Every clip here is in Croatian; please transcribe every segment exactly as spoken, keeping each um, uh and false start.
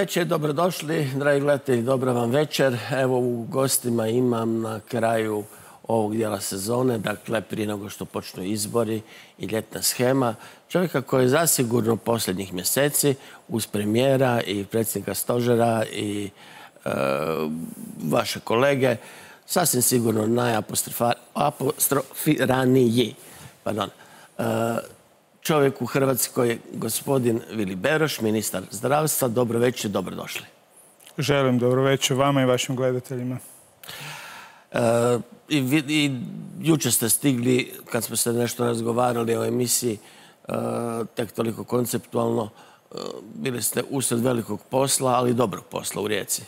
večer, dobrodošli, dragi gledatelji, dobra vam večer. Evo, u gostima imam na kraju ovog dijela sezone, dakle, prije nego što počnu izbori i ljetna shema, čovjeka koji je zasigurno posljednjih mjeseci uz premijera i predsjednika stožera i e, vaše kolege, sasvim sigurno najapostrofiraniji. Pardon. E, čovjek u Hrvatskoj, gospodin Vili Beroš, ministar zdravstva. Dobro večer, dobrodošli. Želim dobro večer vama i vašim gledateljima. E, i, i jučer ste stigli, kad smo se nešto razgovarali o emisiji, e, tek toliko konceptualno, e, bili ste usred velikog posla, ali dobrog posla u Rijeci.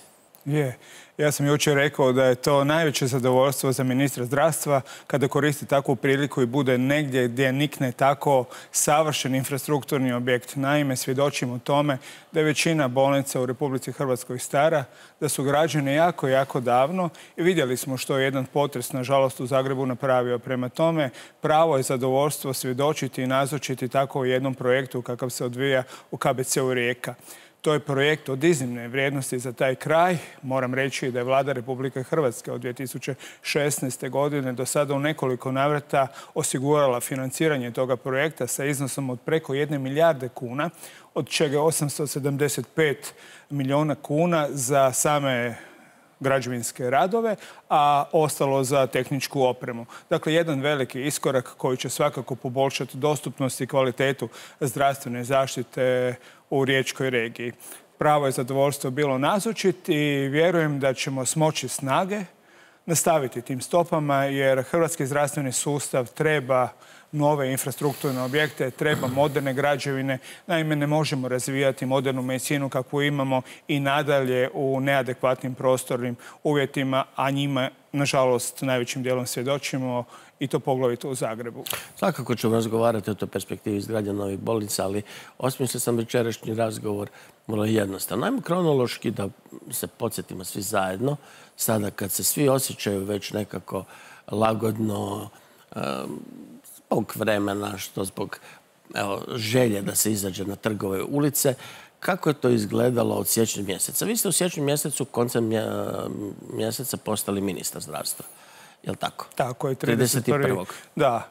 Je. Ja sam jučer rekao da je to najveće zadovoljstvo za ministra zdravstva kada koristi takvu priliku i bude negdje gdje nikne tako savršen infrastrukturni objekt. Naime, svjedočimo tome da je većina bolnica u Republici Hrvatskoj stara, da su građene jako, jako davno i vidjeli smo što je jedan potres, nažalost, u Zagrebu napravio. Prema tome, pravo je zadovoljstvo svjedočiti i nazočiti tako u jednom projektu kakav se odvija u K B C-u Rijeka. To je projekt od iznimne vrijednosti za taj kraj. Moram reći da je Vlada Republike Hrvatske od dvije tisuće šesnaeste. godine do sada u nekoliko navrata osigurala financiranje toga projekta sa iznosom od preko jedne milijarde kuna, od čega osamsto sedamdeset pet milijuna kuna za same građevinske radove, a ostalo za tehničku opremu. Dakle, jedan veliki iskorak koji će svakako poboljšati dostupnost i kvalitetu zdravstvene zaštite u riječkoj regiji. Pravo je zadovoljstvo bilo nazočiti i vjerujem da ćemo smoći snage nastaviti tim stopama, jer hrvatski zdravstveni sustav treba nove infrastrukturne objekte, treba moderne građevine. Naime, ne možemo razvijati modernu medicinu kakvu imamo i nadalje u neadekvatnim prostornim uvjetima, a njima, nažalost, najvećim dijelom svjedočimo i to poglavito u Zagrebu. Svakako ćemo razgovarati o toj perspektivi izgradnje novih bolnica, ali osmislio sam večerašnji razgovor vrlo jednostavno. Najmo kronološki da se podsjetimo svi zajedno, sada kad se svi osjećaju već nekako lagodno, um, zbog vremena, što zbog evo, želje da se izađe na trgove ulice, kako je to izgledalo od siječnja mjeseca? Vi ste u siječnju mjesecu, koncem mjeseca, postali ministar zdravstva. Je li tako? Tako je. trideset prvog Da.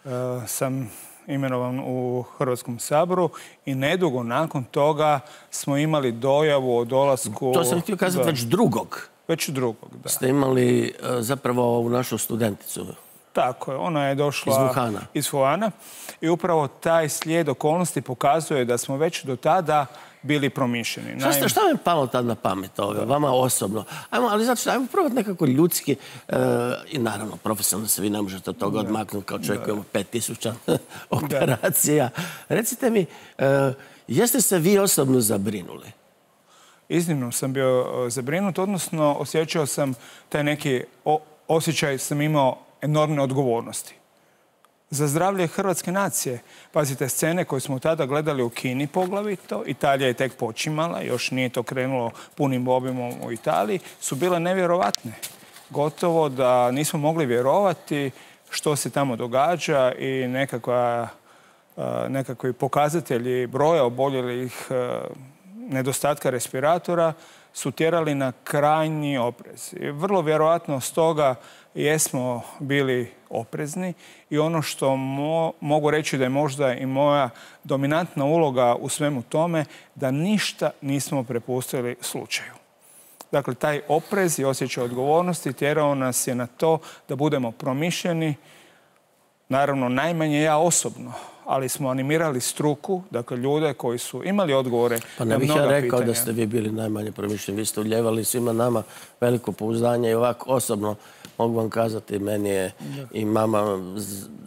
E, sam imenovan u Hrvatskom saboru i nedugo nakon toga smo imali dojavu o dolasku... To sam htio kazati da, već drugog. Već drugog, da. Ste imali zapravo ovu našu studenticu. Tako je, ona je došla iz Wuhana. iz Wuhana i upravo taj slijed okolnosti pokazuje da smo već do tada bili promišljeni. Šta, ste, šta vam je palo tad na pamet ove, vama osobno? Ajmo, ali znači što, ajmo probati nekako ljudski e, i naravno profesionalno se vi ne možete od toga odmaknuti kao čovjek koji ima pet tisuća operacija. Da. Recite mi, e, jeste se vi osobno zabrinuli? Iznimno sam bio zabrinut, odnosno osjećao sam taj neki o, osjećaj sam imao enormne odgovornosti. Za zdravlje hrvatske nacije. Pazite, scene koje smo tada gledali u Kini poglavito, Italija je tek počimala, još nije to krenulo punim obimom u Italiji, su bile nevjerovatne. Gotovo da nismo mogli vjerovati što se tamo događa i nekakva, nekakvi pokazatelji broja oboljelih, nedostatka respiratora su tjerali na krajnji oprez. I vrlo vjerojatno stoga jesmo bili oprezni i ono što mo mogu reći da je možda i moja dominantna uloga u svemu tome, da ništa nismo prepustili slučaju. Dakle, taj oprez i osjećaj odgovornosti tjerao nas je na to da budemo promišljeni, naravno najmanje ja osobno, ali smo animirali struku, dakle ljude koji su imali odgovore na mnoga pitanja. Pa ne bih ja rekao da ste vi bili najmanje promišljeni. Vi ste uljevali svima nama veliko pouzdanje i ovako osobno mogu vam kazati, meni je i mama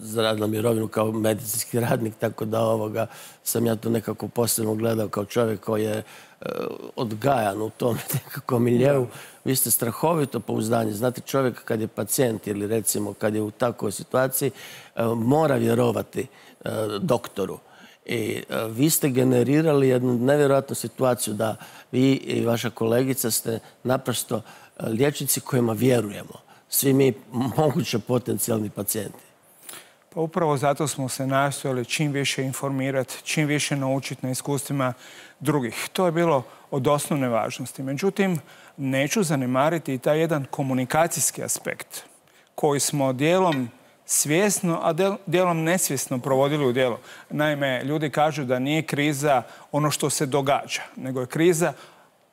zaradila mirovinu kao medicinski radnik, tako da ovoga sam ja to nekako posebno gledao kao čovjek koji je odgajan u tom nekakvom miljeu. Vi ste strahovito pouzdanje. Znate, čovjek kad je pacijent ili recimo kad je u takvoj situaciji mora vjerovati doktoru. I vi ste generirali jednu nevjerojatnu situaciju da vi i vaša kolegica ste naprosto liječnici kojima vjerujemo. Svi mi moguće potencijalni pacijenti. Pa upravo zato smo se nastojali čim više informirati, čim više naučiti na iskustvima drugih. To je bilo od osnovne važnosti. Međutim, neću zanemariti i taj jedan komunikacijski aspekt koji smo dijelom svjesno, a dijelom nesvjesno provodili u djelo. Naime, ljudi kažu da nije kriza ono što se događa, nego je kriza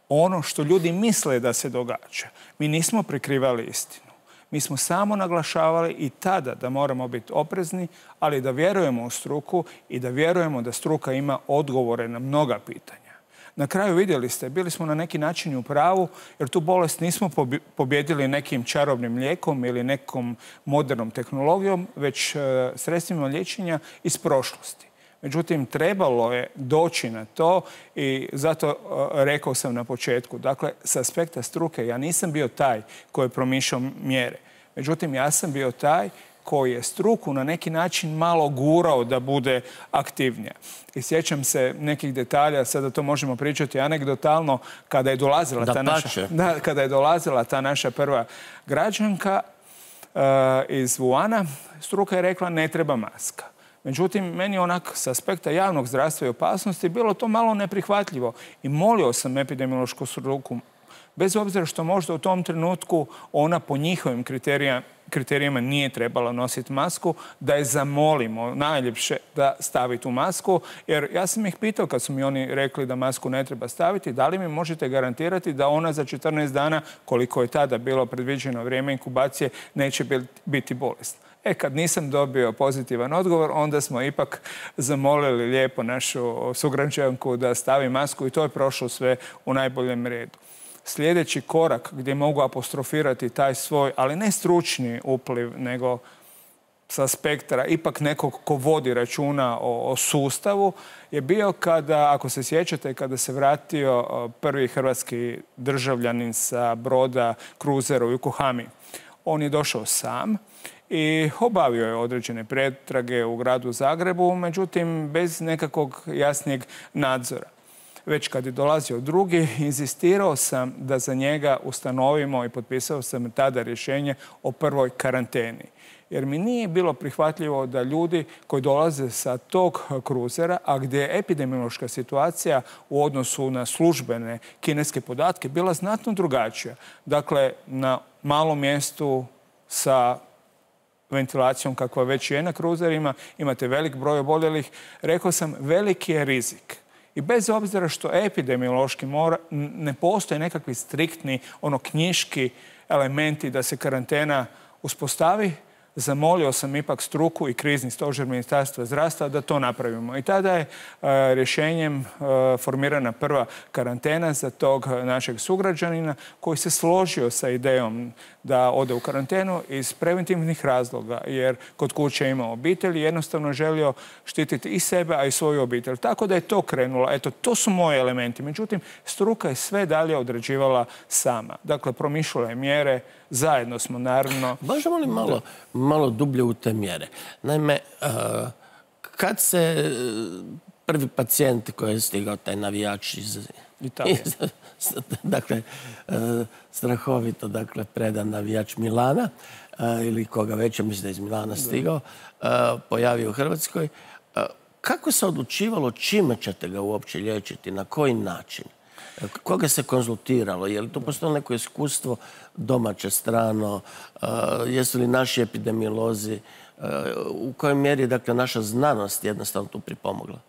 ono što ljudi misle da se događa. Mi nismo prikrivali istinu. Mi smo samo naglašavali i tada da moramo biti oprezni, ali da vjerujemo u struku i da vjerujemo da struka ima odgovore na mnoga pitanja. Na kraju vidjeli ste, bili smo na neki način u pravu, jer tu bolest nismo pobjedili nekim čarobnim lijekom ili nekom modernom tehnologijom, već sredstvima liječenja iz prošlosti. Međutim, trebalo je doći na to i zato rekao sam na početku. Dakle, s aspekta struke ja nisam bio taj koji je promišljao mjere. Međutim, ja sam bio taj koji je struku na neki način malo gurao da bude aktivnija. I sjećam se nekih detalja, sada to možemo pričati anegdotalno, kada je dolazila, ta naša, da, kada je dolazila ta naša prva građanka uh, iz Wuhana, struka je rekla ne treba maska. Međutim, meni onak s aspekta javnog zdravstva i opasnosti bilo to malo neprihvatljivo i molio sam epidemiološku struku, bez obzira što možda u tom trenutku ona po njihovim kriterijama, kriterijima nije trebala nositi masku, da je zamolimo najljepše da stavi tu masku. Jer ja sam ih pitao kad su mi oni rekli da masku ne treba staviti, da li mi možete garantirati da ona za četrnaest dana, koliko je tada bilo predviđeno vrijeme inkubacije, neće biti bolesna. E, kad nisam dobio pozitivan odgovor, onda smo ipak zamolili lijepo našu sugrađanku da stavi masku i to je prošlo sve u najboljem redu. Sljedeći korak gdje mogu apostrofirati taj svoj, ali ne stručni upliv, nego sa spektra ipak nekog ko vodi računa o, o sustavu, je bio kada, ako se sjećate, kada se vratio prvi hrvatski državljanin sa broda kruzera u Yokohami. On je došao sam i obavio je određene pretrage u gradu Zagrebu, međutim bez nekakvog jasnijeg nadzora. Već kad je dolazio drugi, inzistirao sam da za njega ustanovimo i potpisao sam tada rješenje o prvoj karanteni. Jer mi nije bilo prihvatljivo da ljudi koji dolaze sa tog kruzera, a gdje je epidemiološka situacija u odnosu na službene kineske podatke bila znatno drugačija. Dakle, na malom mjestu sa ventilacijom kakva već je na kruzerima, imate velik broj oboljelih, rekao sam veliki je rizik. I bez obzira što epidemiološki mora, ne postoje nekakvi striktni, ono knjiški elementi da se karantena uspostavi, zamolio sam ipak struku i krizni stožer Ministarstva zdravstva da to napravimo. I tada je uh, rješenjem uh, formirana prva karantena za tog našeg sugrađanina koji se složio sa idejom da ode u karantenu iz preventivnih razloga, jer kod kuće ima obitelj i jednostavno želio štititi i sebe, a i svoju obitelj. Tako da je to krenulo. Eto, to su moji elementi. Međutim, struka je sve dalje određivala sama. Dakle, promišljala je mjere, zajedno smo naravno... Možemo li malo, malo dublje u te mjere? Naime, kad se prvi pacijent koji je stigao, taj navijač iz Italije, dakle, strahovito, dakle, predan navijač Milana, ili koga već, mislim da je iz Milana stigao, pojavio u Hrvatskoj, kako se odlučivalo čime ćete ga uopće liječiti, na koji način? Koga se konzultiralo? Je li to postalo neko iskustvo domaće strano? Jesu li naši epidemiolozi? U kojoj mjeri je, dakle, naša znanost jednostavno tu pripomogla?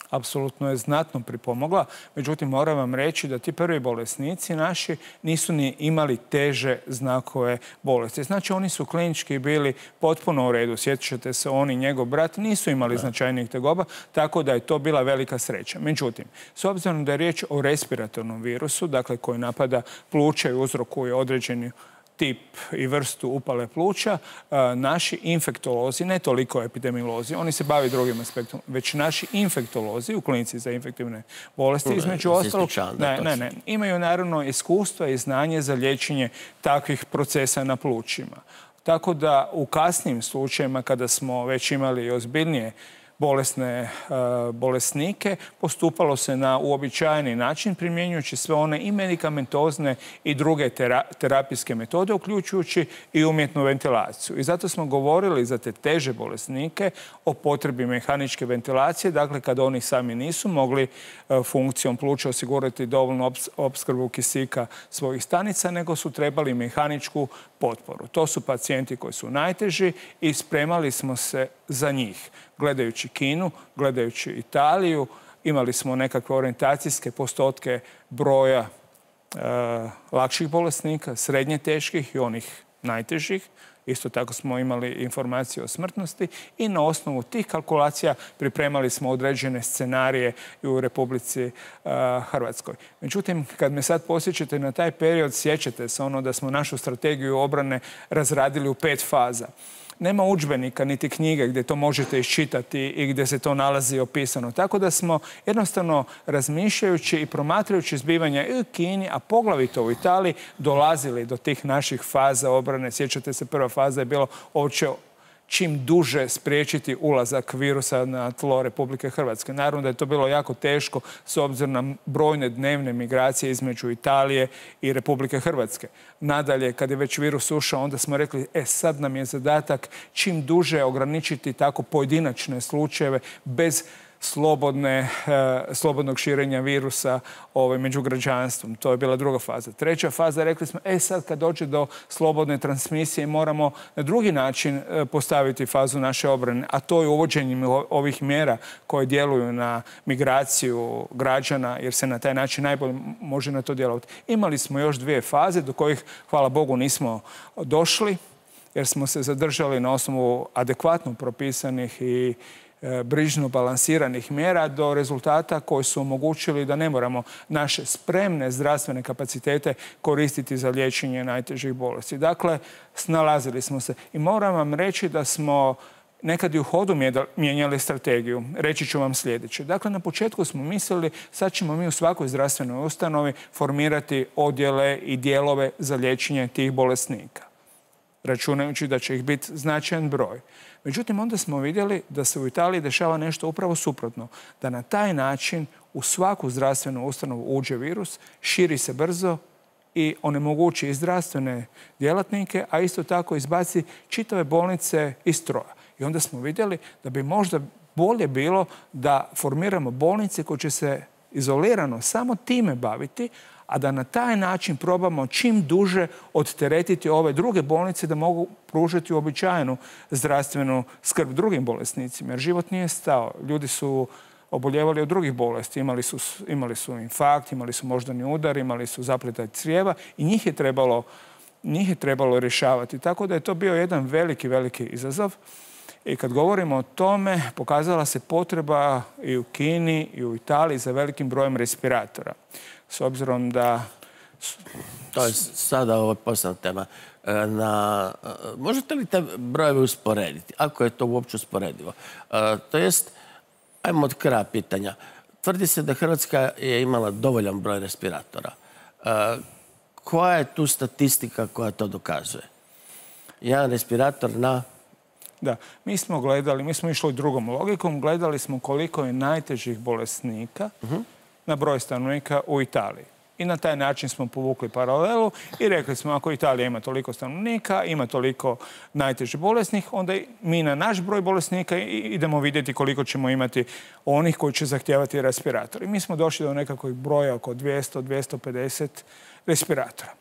Apsolutno je znatno pripomogla. Međutim, moram vam reći da ti prvi bolesnici naši nisu ni imali teže znakove bolesti. Znači, oni su klinički bili potpuno u redu. Sjećate se, oni i njegov brat nisu imali da. značajnijih tegoba, tako da je to bila velika sreća. Međutim, s obzirom da je riječ o respiratornom virusu, dakle koji napada pluća i uzrokuje određeni tip i vrstu upale pluća, naši infektolozi, ne toliko epidemiolozi, oni se bavi drugim aspektom, već naši infektolozi u klinici za infektivne bolesti, između ostalog, ne, ne, ne, imaju naravno iskustva i znanje za liječenje takvih procesa na plućima. Tako da u kasnijim slučajima, kada smo već imali ozbiljnije bolesne bolesnike. Postupalo se na uobičajeni način, primjenjujući sve one i medikamentozne i druge terapijske metode, uključujući i umjetnu ventilaciju. I zato smo govorili za te teže bolesnike o potrebi mehaničke ventilacije, dakle kada oni sami nisu mogli funkcijom pluća osigurati dovoljnu opskrbu kisika svojih stanica, nego su trebali mehaničku potporu. To su pacijenti koji su najteži i spremali smo se za njih. Gledajući Kinu, gledajući Italiju, imali smo nekakve orijentacijske postotke broja e, lakših bolesnika, srednje teških i onih najtežih. Isto tako smo imali informacije o smrtnosti i na osnovu tih kalkulacija pripremali smo određene scenarije i u Republici uh, Hrvatskoj. Međutim, kad me sad posjećate na taj period, sjećate se ono da smo našu strategiju obrane razradili u pet faza. Nema udžbenika niti knjige gdje to možete iščitati i gdje se to nalazi opisano. Tako da smo jednostavno razmišljajući i promatrajući zbivanja i u Kini, a poglavito u Italiji, dolazili do tih naših faza obrane. Sjećate se, prva faza je bilo uopće čim duže spriječiti ulazak virusa na tlo Republike Hrvatske. Naravno da je to bilo jako teško s obzirom na brojne dnevne migracije između Italije i Republike Hrvatske. Nadalje, kad je već virus ušao, onda smo rekli, e sad nam je zadatak čim duže ograničiti tako pojedinačne slučajeve bez slobodne, e, slobodnog širenja virusa ovaj, među građanstvom. To je bila druga faza. Treća faza, rekli smo, e sad kad dođe do slobodne transmisije moramo na drugi način e, postaviti fazu naše obrane, a to je uvođenjem ovih mjera koje djeluju na migraciju građana, jer se na taj način najbolje može na to djelovati. Imali smo još dvije faze do kojih, hvala Bogu, nismo došli, jer smo se zadržali na osnovu adekvatno propisanih i brižno balansiranih mjera do rezultata koji su omogućili da ne moramo naše spremne zdravstvene kapacitete koristiti za liječenje najtežih bolesti. Dakle, snalazili smo se i moram vam reći da smo nekad i u hodu mijenjali strategiju. Reći ću vam sljedeće. Dakle, na početku smo mislili sad ćemo mi u svakoj zdravstvenoj ustanovi formirati odjele i dijelove za liječenje tih bolesnika, računajući da će ih biti značajan broj. Međutim, onda smo vidjeli da se u Italiji dešava nešto upravo suprotno. Da na taj način u svaku zdravstvenu ustanovu uđe virus, širi se brzo i onemogući i zdravstvene djelatnike, a isto tako izbaci čitave bolnice iz stroja. I onda smo vidjeli da bi možda bolje bilo da formiramo bolnice koje će se izolirano samo time baviti, a da na taj način probamo čim duže odteretiti ove druge bolnice da mogu pružiti uobičajenu zdravstvenu skrb drugim bolesnicima. Jer život nije stao. Ljudi su oboljevali od drugih bolesti. Imali su, imali su infarkt, imali su moždani udar, imali su zapletaj crijeva i njih je trebalo, njih je trebalo rješavati. Tako da je to bio jedan veliki, veliki izazov. I kad govorimo o tome, pokazala se potreba i u Kini i u Italiji za velikim brojem respiratora. S obzirom da... To je sada ovo posebna tema. Na, možete li te brojeve usporediti? Ako je to uopće usporedivo. To jest, ajmo od kraja pitanja. Tvrdi se da Hrvatska je imala dovoljan broj respiratora. Koja je tu statistika koja to dokazuje? Jedan respirator na... Da, mi smo gledali, mi smo išli drugom logikom, gledali smo koliko je najtežih bolesnika uh-huh. na broj stanovnika u Italiji. I na taj način smo povukli paralelu i rekli smo ako Italija ima toliko stanovnika, ima toliko najtežih bolesnih, onda mi na naš broj bolesnika idemo vidjeti koliko ćemo imati onih koji će zahtijevati respirator. I mi smo došli do nekakvog broja oko dvjesto do dvjesto pedeset respiratora.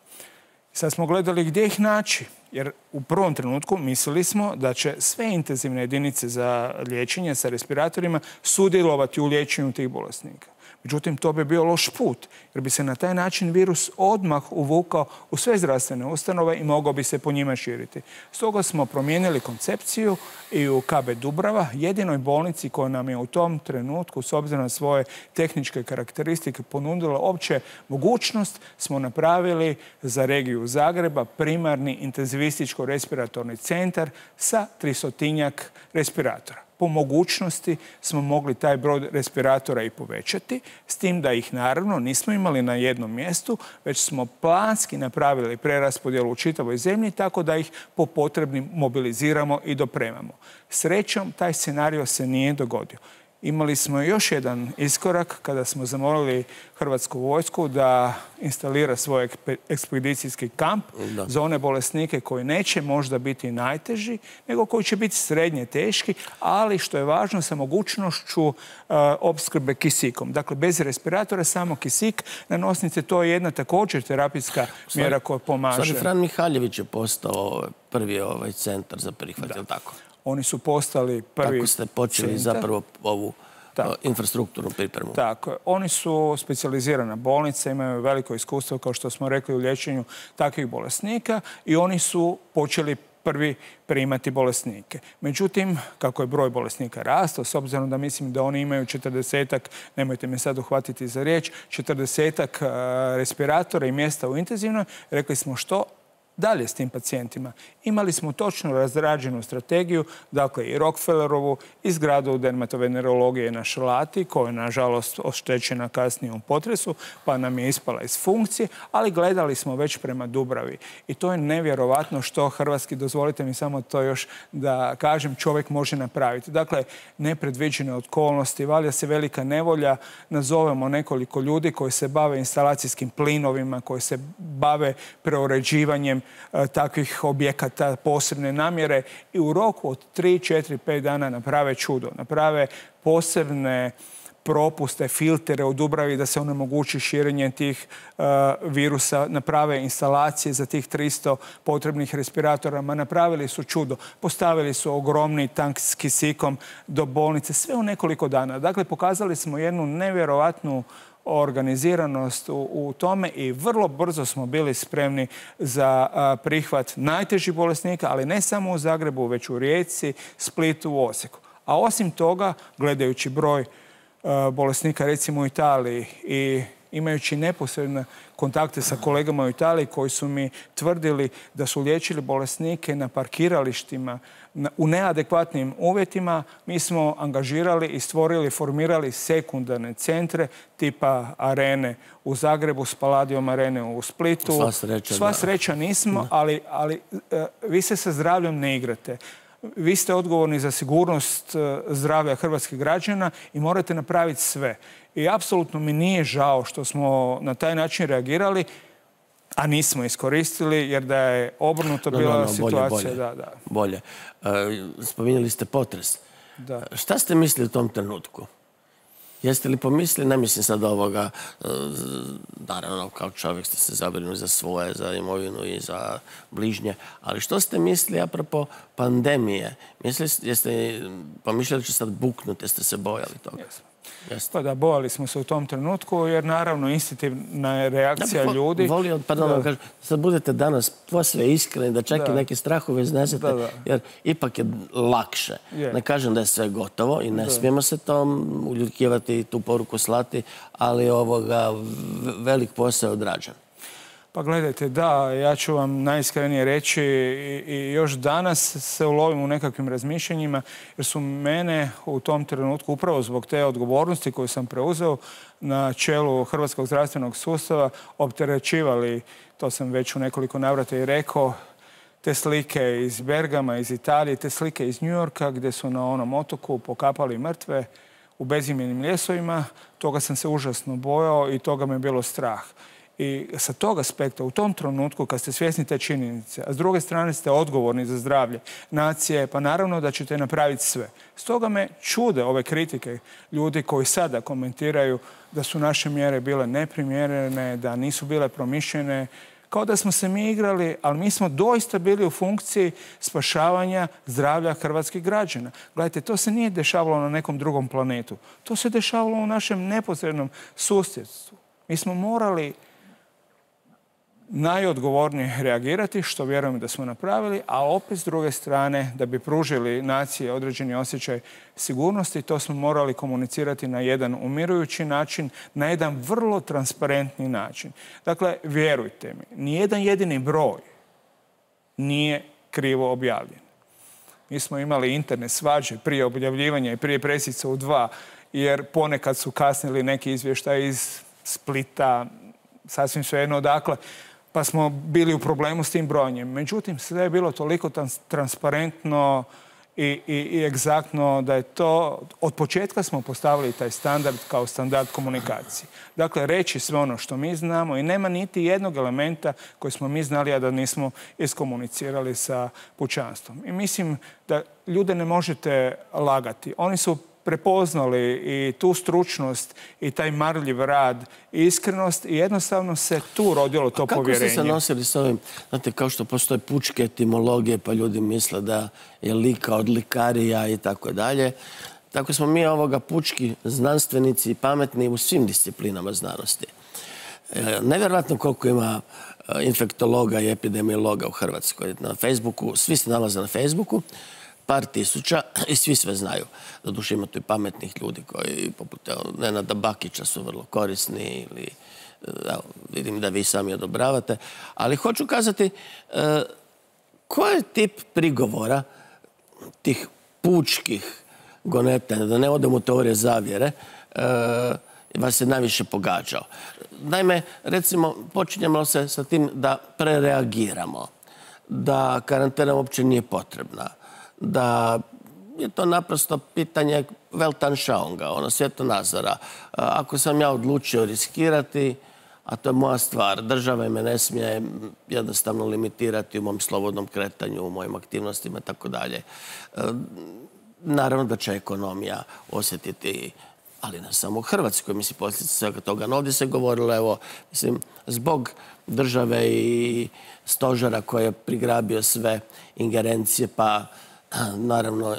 Sad smo gledali gdje ih naći, jer u prvom trenutku mislili smo da će sve intenzivne jedinice za liječenje sa respiratorima sudjelovati u liječenju tih bolesnika. Međutim, to bi bio loš put, jer bi se na taj način virus odmah uvukao u sve zdravstvene ustanove i mogao bi se po njima širiti. Stoga smo promijenili koncepciju i u K B Dubrava, jedinoj bolnici koja nam je u tom trenutku, s obzirom na svoje tehničke karakteristike, ponudila opće mogućnost, smo napravili za regiju Zagreba primarni intenzivističko-respiratorni centar sa tristotinjak respiratora. po mogućnosti smo mogli taj broj respiratora i povećati, s tim da ih naravno nismo imali na jednom mjestu, već smo planski napravili preraspodjelu u čitavoj zemlji tako da ih po potrebnim mobiliziramo i dopremamo. Srećom, taj scenario se nije dogodio. Imali smo još jedan iskorak kada smo zamolili Hrvatsku vojsku da instalira svoj ekspedicijski kamp da. za one bolesnike koji neće možda biti najteži, nego koji će biti srednje teški, ali što je važno sa mogućnošću uh, opskrbe kisikom. Dakle, bez respiratora, samo kisik na nosnice, to je jedna također terapijska Stvari, mjera koja pomaže. Stvari, Fran Mihaljević je postao prvi ovaj centar za prihvat, je li tako? Oni su postali prvi Tako ste počeli centar. zapravo ovu Tako. infrastrukturnu pripremu. Tako. Oni su specijalizirana bolnica, imaju veliko iskustvo, kao što smo rekli, u liječenju takvih bolesnika i oni su počeli prvi primati bolesnike. Međutim, kako je broj bolesnika rastao, s obzirom da mislim da oni imaju četrdesetak, nemojte me sad uhvatiti za riječ, četrdesetak respiratora i mjesta u intenzivnoj, rekli smo što dalje s tim pacijentima. Imali smo točno razrađenu strategiju, dakle i Rockefellerovu, i zgradu dermatovenerologije na Šalati, koja je nažalost oštećena kasnije u potresu, pa nam je ispala iz funkcije, ali gledali smo već prema Dubravi. I to je nevjerovatno što hrvatski, dozvolite mi samo to još da kažem, čovjek može napraviti. Dakle, nepredviđene okolnosti, valja se velika nevolja, nazovemo nekoliko ljudi koji se bave instalacijskim plinovima, koji se bave preuređivanjem takvih objekata posebne namjere i u roku od tri, četiri, pet dana naprave čudo. Naprave posebne propuste, filtere u Dubravi da se onemogući širenje tih uh, virusa, naprave instalacije za tih tristo potrebnih respiratora, ma napravili su čudo. Postavili su ogromni tank s kisikom do bolnice, sve u nekoliko dana. Dakle, pokazali smo jednu nevjerovatnu organiziranost u, u tome i vrlo brzo smo bili spremni za a, prihvat najtežih bolesnika, ali ne samo u Zagrebu, već u Rijeci, Splitu, u Osijeku. A osim toga, gledajući broj a, bolesnika recimo u Italiji i imajući neposredne kontakte sa kolegama u Italiji koji su mi tvrdili da su liječili bolesnike na parkiralištima u neadekvatnim uvjetima, mi smo angažirali i stvorili, formirali sekundarne centre tipa Arene u Zagrebu, Spaladium Arene u Splitu. Sva sreća, Sva sreća nismo, ali, ali vi se sa zdravljem ne igrate. Vi ste odgovorni za sigurnost zdravlja hrvatskih građana i morate napraviti sve. I apsolutno mi nije žao što smo na taj način reagirali, a nismo iskoristili, jer da je obrnuto no, bila no, no, situacija. Bolje, da, da. bolje. Uh, spominjali ste potres. Da. Šta ste mislili u tom trenutku? Jeste li pomislili, ne mislim sad ovoga, naravno kao čovjek ste se zabrinuli za svoje, za imovinu i za bližnje, ali što ste mislili apropo pandemije? Mislili, jeste pomišljali će sad buknuti, jeste se bojali toga? Jesmo. Pa da, bojali smo se u tom trenutku, jer naravno instinktna je reakcija da, vo, ljudi. Volio, pardon, da. Kažem, sad budete danas posve iskreni, da čak da. i neke strahove iznesete, da, da. jer ipak je lakše. Je. Ne kažem da je sve gotovo i ne da. smijemo se tom uljudkivati i tu poruku slati, ali ovoga velik posao je odrađen. Pa gledajte, da, ja ću vam najiskrenije reći i, i još danas se ulovim u nekakvim razmišljanjima, jer su mene u tom trenutku, upravo zbog te odgovornosti koju sam preuzeo na čelu Hrvatskog zdravstvenog sustava, opterećivali, to sam već u nekoliko navrata i rekao, te slike iz Bergama, iz Italije, te slike iz New Yorka gdje su na onom otoku pokapali mrtve u bezimljenim ljesovima. Toga sam se užasno bojao i toga me je bilo strah. I sa tog aspekta, u tom trenutku, kad ste svjesni te činjenice, a s druge strane ste odgovorni za zdravlje nacije, pa naravno da ćete napraviti sve. Stoga me čude ove kritike ljudi koji sada komentiraju da su naše mjere bile neprimjerene, da nisu bile promišljene, kao da smo se mi igrali, ali mi smo doista bili u funkciji spašavanja zdravlja hrvatskih građana. Gledajte, to se nije dešavalo na nekom drugom planetu. To se dešavalo u našem neposrednom susjedstvu. Mi smo morali najodgovornije reagirati, što vjerujem da smo napravili, a opet s druge strane, da bi pružili naciji određeni osjećaj sigurnosti, to smo morali komunicirati na jedan umirujući način, na jedan vrlo transparentni način. Dakle, vjerujte mi, nijedan jedini broj nije krivo objavljen. Mi smo imali interne svađe prije objavljivanja i prije presica u dva, jer ponekad su kasnili neki izvještaj iz Splita, sasvim svejedno odakle, pa smo bili u problemu s tim brojanjem. Međutim, sve je bilo toliko transparentno i, i, i egzaktno da je to, od početka smo postavili taj standard kao standard komunikacije. Dakle, reći sve ono što mi znamo i nema niti jednog elementa koji smo mi znali, a da nismo iskomunicirali sa pučanstvom. I mislim da ljude ne možete lagati. Oni su prepoznali i tu stručnost i taj marljiv rad i iskrenost i jednostavno se tu rodilo to povjerenje. Kako ste se nosili s ovim? Znate, kao što postoje pučke etimologije, pa ljudi misle da je lika od likarija i tako dalje. Tako smo mi ovoga pučki znanstvenici i pametni u svim disciplinama znanosti. Nevjerojatno koliko ima infektologa i epidemiologa u Hrvatskoj. Na Facebooku, svi se nalaze na Facebooku, par tisuća i svi sve znaju. Doduše ima tu i pametnih ljudi koji, poput Nenada Bakića, su vrlo korisni ili evo, vidim da vi sami odobravate. Ali hoću kazati, e, koji je tip prigovora tih pučkih gonetanja, da ne odem u teorije zavjere, e, vas je najviše pogađao? Naime, recimo, počinjemo se sa tim da prereagiramo, da karantena uopće nije potrebna, da je to naprosto pitanje Weltanschauunga, ono svjetonazora. Ako sam ja odlučio riskirati, a to je moja stvar, država me ne smije jednostavno limitirati u mom slobodnom kretanju, u mojim aktivnostima i tako dalje. Naravno da će ekonomija osjetiti, ali ne samo u Hrvatskoj, mislim, posljedice svega toga. No, ovdje se govorilo, evo, mislim, zbog države i stožera koji je prigrabio sve ingerencije, pa naravno,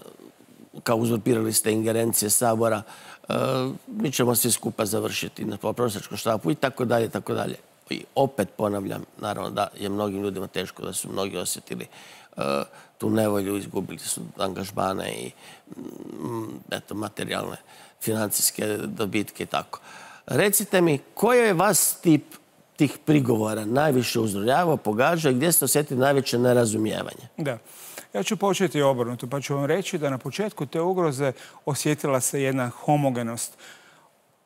kao uzurpirali ste ingerencije Sabora, mi ćemo svi skupa završiti na prosjačkom štapu i tako dalje, i tako dalje. I opet ponavljam, naravno da je mnogim ljudima teško, da su mnogi osjetili tu nevolju, izgubili su angažmane i eto, materijalne, financijske dobitke i tako. Recite mi, koji je vas tip tih prigovora najviše uzrujavao, pogađao i gdje ste osjetili najveće nerazumijevanje? Da. Ja ću početi obrnuto, pa ću vam reći da na početku te ugroze osjetila se jedna homogenost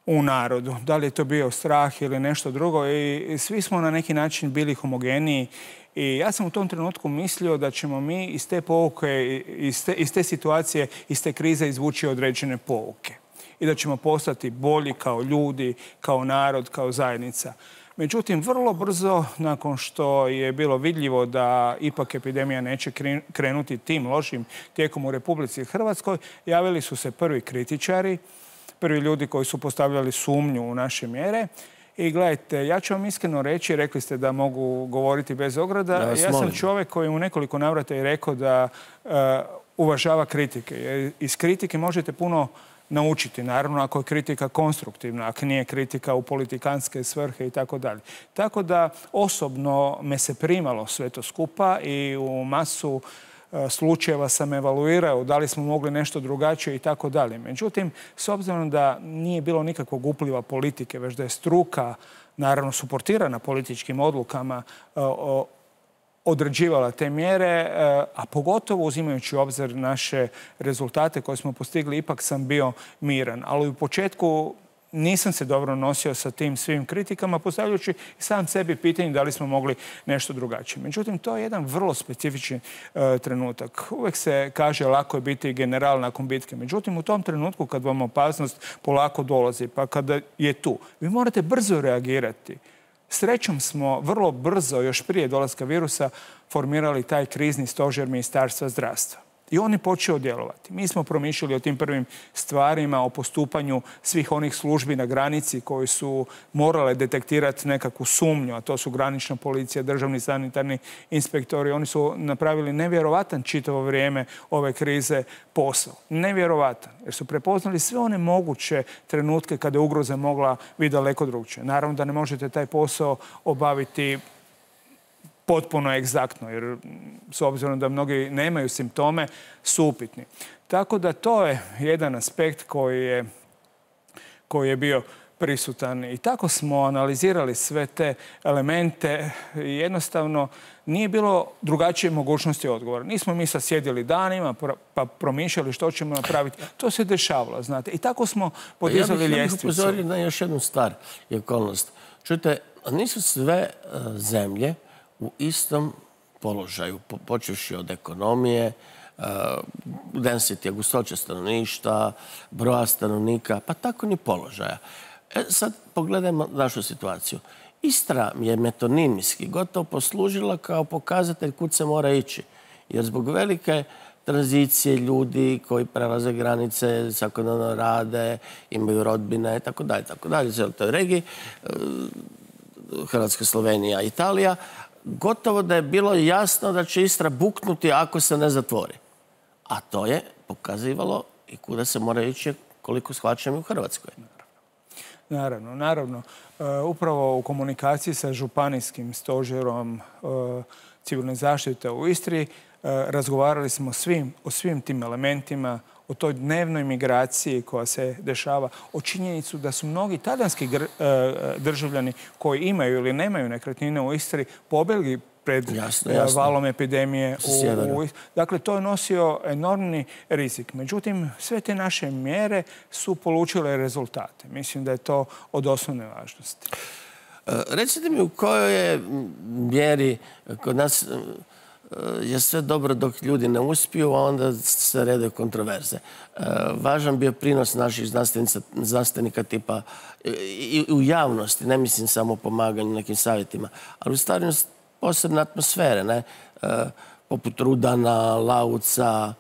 u narodu. Da li je to bio strah ili nešto drugo, i svi smo na neki način bili homogeniji. I ja sam u tom trenutku mislio da ćemo mi iz te pouke, iz te, iz te situacije, iz te krize izvući određene pouke. I da ćemo postati bolji kao ljudi, kao narod, kao zajednica. Međutim, vrlo brzo, nakon što je bilo vidljivo da ipak epidemija neće krenuti tim lošim tijekom u Republici Hrvatskoj, javili su se prvi kritičari, prvi ljudi koji su postavljali sumnju u naše mjere. I gledajte, ja ću vam iskreno reći, rekli ste da mogu govoriti bez ograda. Ja, ja sam čovjek koji u nekoliko navrata je rekao da uh, uvažava kritike. Iz kritike možete puno naučiti, naravno ako je kritika konstruktivna, ako nije kritika u politikanske svrhe i tako dalje. Tako da osobno me se primalo sve to skupa i u masu slučajeva sam evaluirao da li smo mogli nešto drugačije i tako dalje. Međutim, s obzirom da nije bilo nikakvog upliva politike, već da je struka, naravno suportirana političkim odlukama, određivala te mjere, a pogotovo uzimajući u obzir naše rezultate koje smo postigli, ipak sam bio miran. Ali u početku nisam se dobro nosio sa tim svim kritikama, postavljajući sam sebi pitanje da li smo mogli nešto drugačije. Međutim, to je jedan vrlo specifični e, trenutak. Uvijek se kaže lako je biti general nakon bitke. Međutim, u tom trenutku kad vam opasnost polako dolazi, pa kada je tu, vi morate brzo reagirati. Srećom smo vrlo brzo, još prije dolaska virusa, formirali taj krizni stožer Ministarstva zdravstva. I on je počeo djelovati. Mi smo promišljali o tim prvim stvarima, o postupanju svih onih službi na granici koji su morale detektirati nekakvu sumnju, a to su granična policija, državni sanitarni inspektori. Oni su napravili nevjerovatan čitavo vrijeme ove krize posao. Nevjerovatan. Jer su prepoznali sve one moguće trenutke kada je ugroza mogla biti daleko drugčije. Naravno da ne možete taj posao obaviti potpuno egzaktno, jer s obzirom da mnogi nemaju simptome, su upitni. Tako da to je jedan aspekt koji je, koji je bio prisutan. I tako smo analizirali sve te elemente i jednostavno nije bilo drugačije mogućnosti odgovora. Nismo mi sad sjedili danima pa promišljali što ćemo napraviti. To se dešavalo, znate. I tako smo podizali ljestvicu. Ja bih upozorio na još jednu stvar i okolnost. Čujte, nisu sve zemlje u istom položaju, počevši od ekonomije, density, gustoće stanovništva, broja stanovnika, pa tako ni položaja. E, sad pogledajmo našu situaciju. Istra je metonimijski gotovo poslužila kao pokazatelj kud se mora ići. Jer zbog velike tranzicije ljudi koji prelaze granice, svakodnevno rade, imaju rodbine i tako dalje, tako dalje, u toj regiji, Hrvatska, Slovenija, Italija, gotovo da je bilo jasno da će Istra buknuti ako se ne zatvori. A to je pokazivalo i kuda se mora ići, koliko shvaćam, u Hrvatskoj. Naravno, naravno. Upravo u komunikaciji sa županijskim stožerom civilne zaštite u Istri razgovarali smo o svim tim elementima, o toj dnevnoj migraciji koja se dešava, o činjenicu da su mnogi talijanski državljani koji imaju ili nemaju nekretnine u Istri pobjegli pred jasno, jasno. valom epidemije. U, u, dakle, to je nosio enormni rizik. Međutim, sve te naše mjere su polučile rezultate. Mislim da je to od osnovne važnosti. Recite mi u kojoj je mjeri kod nas je sve dobro dok ljudi ne uspiju, a onda se redaju kontroverze. Važan bio prinos naših znanstvenika tipa i u javnosti, ne mislim samo o pomaganju nekim savjetima, ali u stvarno posebne atmosfere, ne? Poput Rudana, Lauca,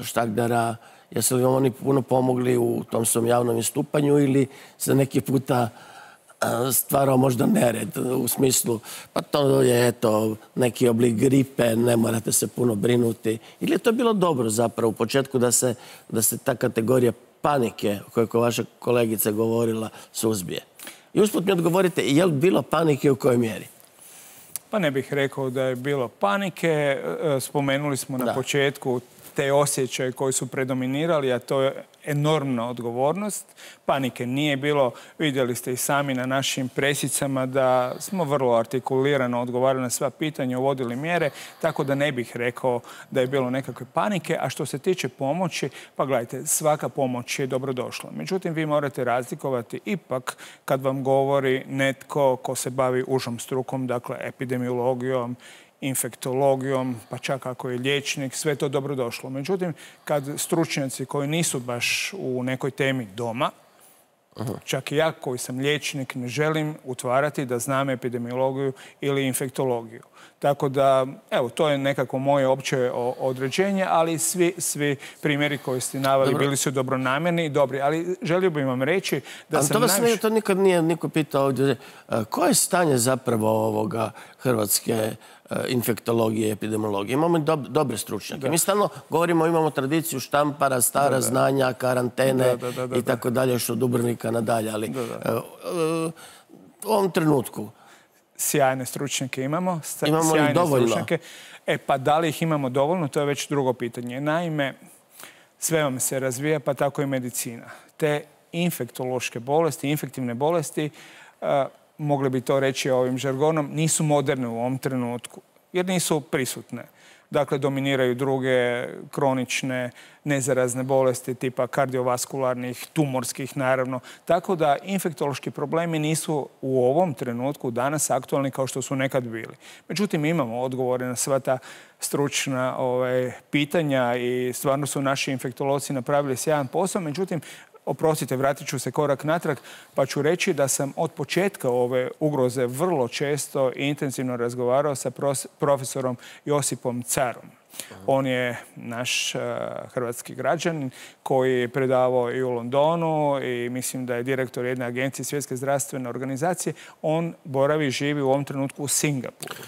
Štagdera. Jesu li oni puno pomogli u tom svom javnom istupanju ili se neki puta stvarao možda nered u smislu pa to je eto neki oblik gripe, ne morate se puno brinuti. Ili je to bilo dobro zapravo u početku da se, da se ta kategorija panike o kojoj vaša kolegica govorila suzbije? I usput mi odgovorite, je li bilo panike u kojoj mjeri? Pa ne bih rekao da je bilo panike. Spomenuli smo na početku te osjećaje koji su predominirali, a to je enormna odgovornost. Panike nije bilo. Vidjeli ste i sami na našim presicama da smo vrlo artikulirano odgovarali na sva pitanja, uvodili mjere, tako da ne bih rekao da je bilo nekakve panike. A što se tiče pomoći, pa gledajte, svaka pomoć je dobrodošla. Međutim, vi morate razlikovati ipak kad vam govori netko ko se bavi užom strukom, dakle epidemiologijom, infektologijom, pa čak ako je liječnik, sve to dobrodošlo. Međutim, kad stručnjaci koji nisu baš u nekoj temi doma, Aha. čak i ja koji sam liječnik ne želim utvarati da znam epidemiologiju ili infektologiju. Tako da, evo, to je nekako moje opće određenje, ali svi, svi primjeri koji ste naveli Dobro. bili su dobronamjerni i dobri. Ali želio bih vam reći da ali sam to vas najviše... nije, to nikad nije niko pitao ovdje. Koje je stanje zapravo ovoga hrvatske infektologije i epidemiologije? Imamo dob, dobre stručnjake. Da. Mi stalno govorimo, imamo tradiciju štampara, stara da, da. znanja, karantene da, da, da, da, i tako dalje, još od Dubrovnika nadalje. Ali da, da. u ovom trenutku sjajne stručnjake imamo. Imamo sjajne ih dovoljno. Stručnjake. E pa da li ih imamo dovoljno, to je već drugo pitanje. Naime, sve vam se razvija, pa tako i medicina. Te infektološke bolesti, infektivne bolesti, uh, mogli bi to reći ovim žargonom, nisu moderne u ovom trenutku, jer nisu prisutne. Dakle, dominiraju druge kronične, nezarazne bolesti tipa kardiovaskularnih, tumorskih naravno. Tako da infektološki problemi nisu u ovom trenutku danas aktualni kao što su nekad bili. Međutim, imamo odgovore na sva ta stručna ovaj, pitanja i stvarno su naši infektolozi napravili sjajan posao. Međutim, oprostite, vratit ću se korak natrag, pa ću reći da sam od početka ove ugroze vrlo često i intenzivno razgovarao sa profesorom Josipom Carom. On je naš uh, hrvatski građanin koji je predavao i u Londonu i mislim da je direktor jedne agencije Svjetske zdravstvene organizacije. On boravi i živi u ovom trenutku u Singapuru.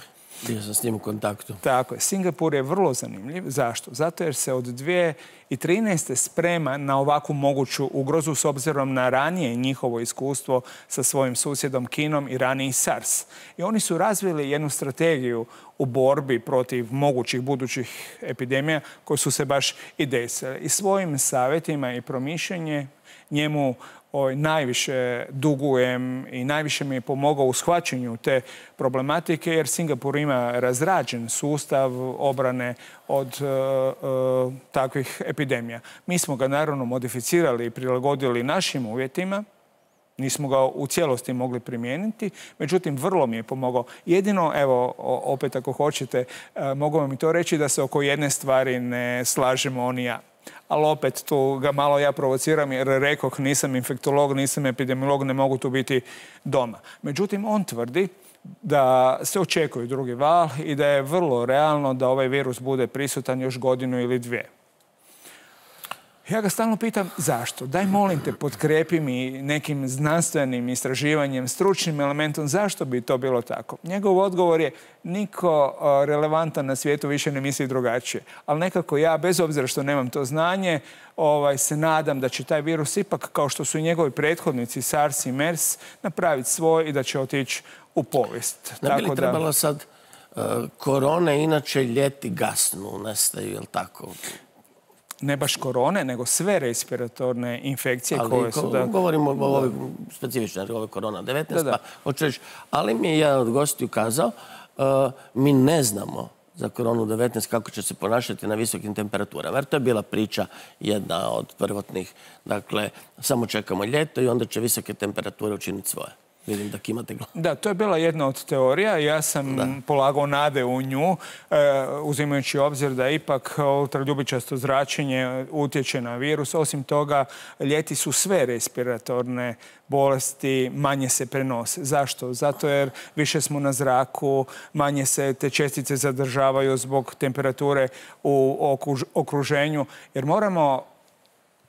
Bio sam s njim u kontaktu. Tako je. Singapur je vrlo zanimljiv. Zašto? Zato jer se od dvije tisuće trinaeste. sprema na ovakvu moguću ugrozu s obzirom na ranije njihovo iskustvo sa svojim susjedom Kinom i raniji SARS. I oni su razvili jednu strategiju u borbi protiv mogućih budućih epidemija koje su se baš i desile. I svojim savjetima i promišljenje njemu ovaj, najviše dugujem i najviše mi je pomogao u shvaćanju te problematike, jer Singapur ima razrađen sustav obrane od uh, uh, takvih epidemija. Mi smo ga naravno modificirali i prilagodili našim uvjetima. Nismo ga u cijelosti mogli primijeniti, međutim, vrlo mi je pomogao. Jedino, evo, opet ako hoćete, mogu vam i to reći da se oko jedne stvari ne slažemo on i ja. Ali opet tu ga malo ja provociram jer rekoh nisam infektolog, nisam epidemiolog, ne mogu tu biti doma. Međutim, on tvrdi da se očekuje drugi val i da je vrlo realno da ovaj virus bude prisutan još godinu ili dvije. Ja ga stalno pitam zašto? Daj molim te, potkrepi mi nekim znanstvenim istraživanjem, stručnim elementom, zašto bi to bilo tako? Njegov odgovor je niko relevantan na svijetu više ne misli drugačije. Ali nekako ja, bez obzira što nemam to znanje, ovaj, se nadam da će taj virus ipak, kao što su i njegovi prethodnici, SARS i MERS, napraviti svoj i da će otići u povijest. Ne bi li trebalo sad, uh, korone inače ljeti gasnu, nestaju, je li tako? Ne baš korone, nego sve respiratorne infekcije ali, koje su... Da... Govorimo o ovoj specifičnoj, ovoj korona devetnaest, da, da. Pa hoću reći, ali mi je jedan od gostiju kazao, uh, mi ne znamo za koronu devetnaest kako će se ponašati na visokim temperaturama. Jer to je bila priča jedna od prvotnih. Dakle, samo čekamo ljeto i onda će visoke temperature učiniti svoje. Vidim da kimate glavu. Da, to je bila jedna od teorija. Ja sam da. polagao nade u nju, uzimajući obzir da ipak ultraljubičasto zračenje utječe na virus. Osim toga, ljeti su sve respiratorne bolesti, manje se prenose. Zašto? Zato jer više smo na zraku, manje se te čestice zadržavaju zbog temperature u okruženju. Jer moramo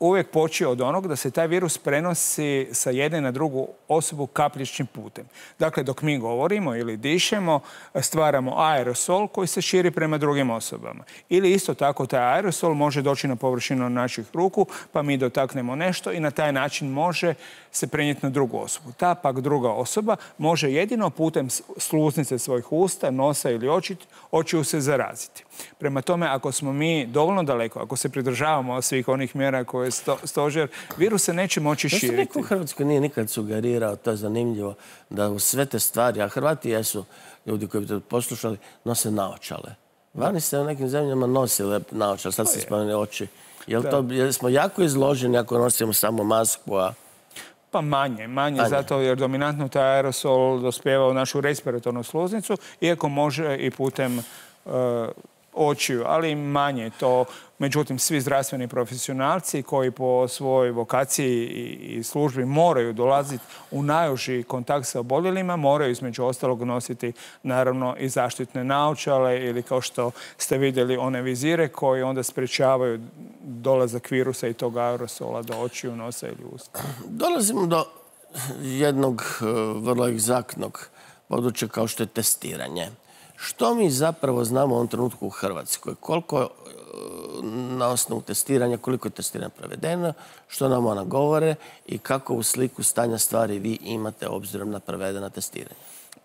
uvijek poći od onog da se taj virus prenosi sa jedne na drugu osobu kapljičnim putem. Dakle, dok mi govorimo ili dišemo, stvaramo aerosol koji se širi prema drugim osobama. Ili isto tako taj aerosol može doći na površinu naših ruku, pa mi dotaknemo nešto i na taj način može se prenijeti na drugu osobu. Ta pak druga osoba može jedino putem sluznice svojih usta, nosa ili očiju se zaraziti. Prema tome, ako smo mi dovoljno daleko, ako se pridržavamo svih onih mjera koje je sto, stožer, virus se neće moći širiti. To se niko u Hrvatskoj nije nikad sugerirao, to je zanimljivo, da u sve te stvari, a Hrvati jesu ljudi koji bi to poslušali, nose naočale. Vani se u nekim zemljama nosile naočale, sad se spomenuli oči. Jel to, jel smo jako izloženi ako nosimo samo masku, a... Pa manje, manje, manje, zato jer dominantno taj aerosol dospijeva u našu respiratornu sluznicu, iako može i putem uh, očiju, ali manje to. Međutim, svi zdravstveni profesionalci koji po svojoj vokaciji i službi moraju dolaziti u najuži kontakt sa oboljelima, moraju između ostalog nositi naravno i zaštitne naočale ili kao što ste vidjeli one vizire koji onda sprečavaju dolazak virusa i tog aerosola do očiju, nosa ili usta. Dolazimo do jednog vrlo egzaktnog područja kao što je testiranje. Što mi zapravo znamo u ovom trenutku u Hrvatskoj? Koliko na osnovu testiranja, koliko je testiranja provedeno, što nam ona govore i kako u sliku stanja stvari vi imate obzirom na provedena testiranja?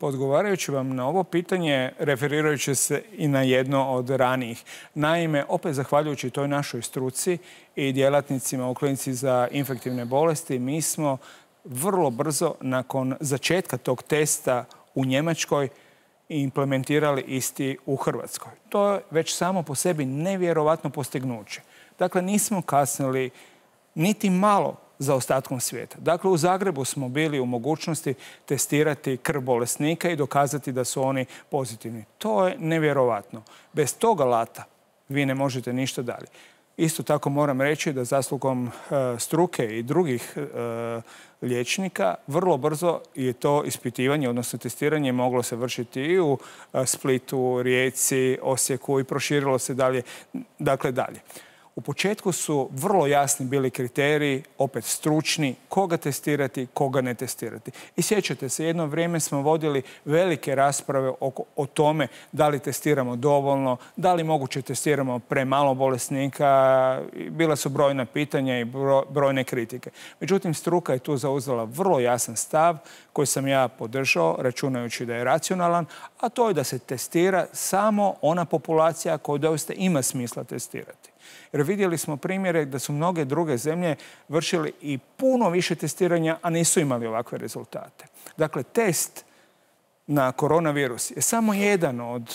Odgovarajući vam na ovo pitanje, referirajući se i na jedno od ranijih. Naime, opet zahvaljujući toj našoj struci i djelatnicima u klinici za infektivne bolesti, mi smo vrlo brzo nakon začetka tog testa u Njemačkoj i implementirali isti u Hrvatskoj. To je već samo po sebi nevjerovatno postignuće. Dakle, nismo kasnili niti malo za ostatkom svijeta. Dakle, u Zagrebu smo bili u mogućnosti testirati krv bolesnika i dokazati da su oni pozitivni. To je nevjerovatno. Bez toga alata vi ne možete ništa dalje. Isto tako moram reći da zaslugom e, struke i drugih e, liječnika vrlo brzo je to ispitivanje, odnosno testiranje moglo se vršiti i u e, Splitu, Rijeci, Osijeku i proširilo se dalje, dakle dalje. U početku su vrlo jasni bili kriteriji, opet stručni, koga testirati, koga ne testirati. I sjećate se, jedno vrijeme smo vodili velike rasprave o, o tome da li testiramo dovoljno, da li moguće testiramo premalo bolesnika. Bila su brojna pitanja i brojne kritike. Međutim, struka je tu zauzela vrlo jasan stav koji sam ja podržao, računajući da je racionalan, a to je da se testira samo ona populacija koju doista ima smisla testirati. Jer vidjeli smo primjere da su mnoge druge zemlje vršili i puno više testiranja, a nisu imali ovakve rezultate. Dakle, test na koronavirus je samo jedan od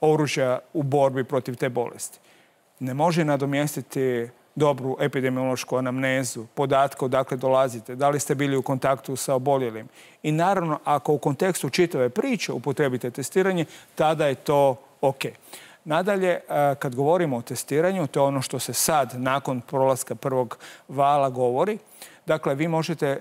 oružja u borbi protiv te bolesti. Ne može nadomjestiti dobru epidemiološku anamnezu, podatke odakle dolazite, da li ste bili u kontaktu sa oboljelim. I naravno, ako u kontekstu čitave priče upotrebite testiranje, tada je to ok. Nadalje, kad govorimo o testiranju, to je ono što se sad, nakon prolaska prvog vala, govori. Dakle, vi možete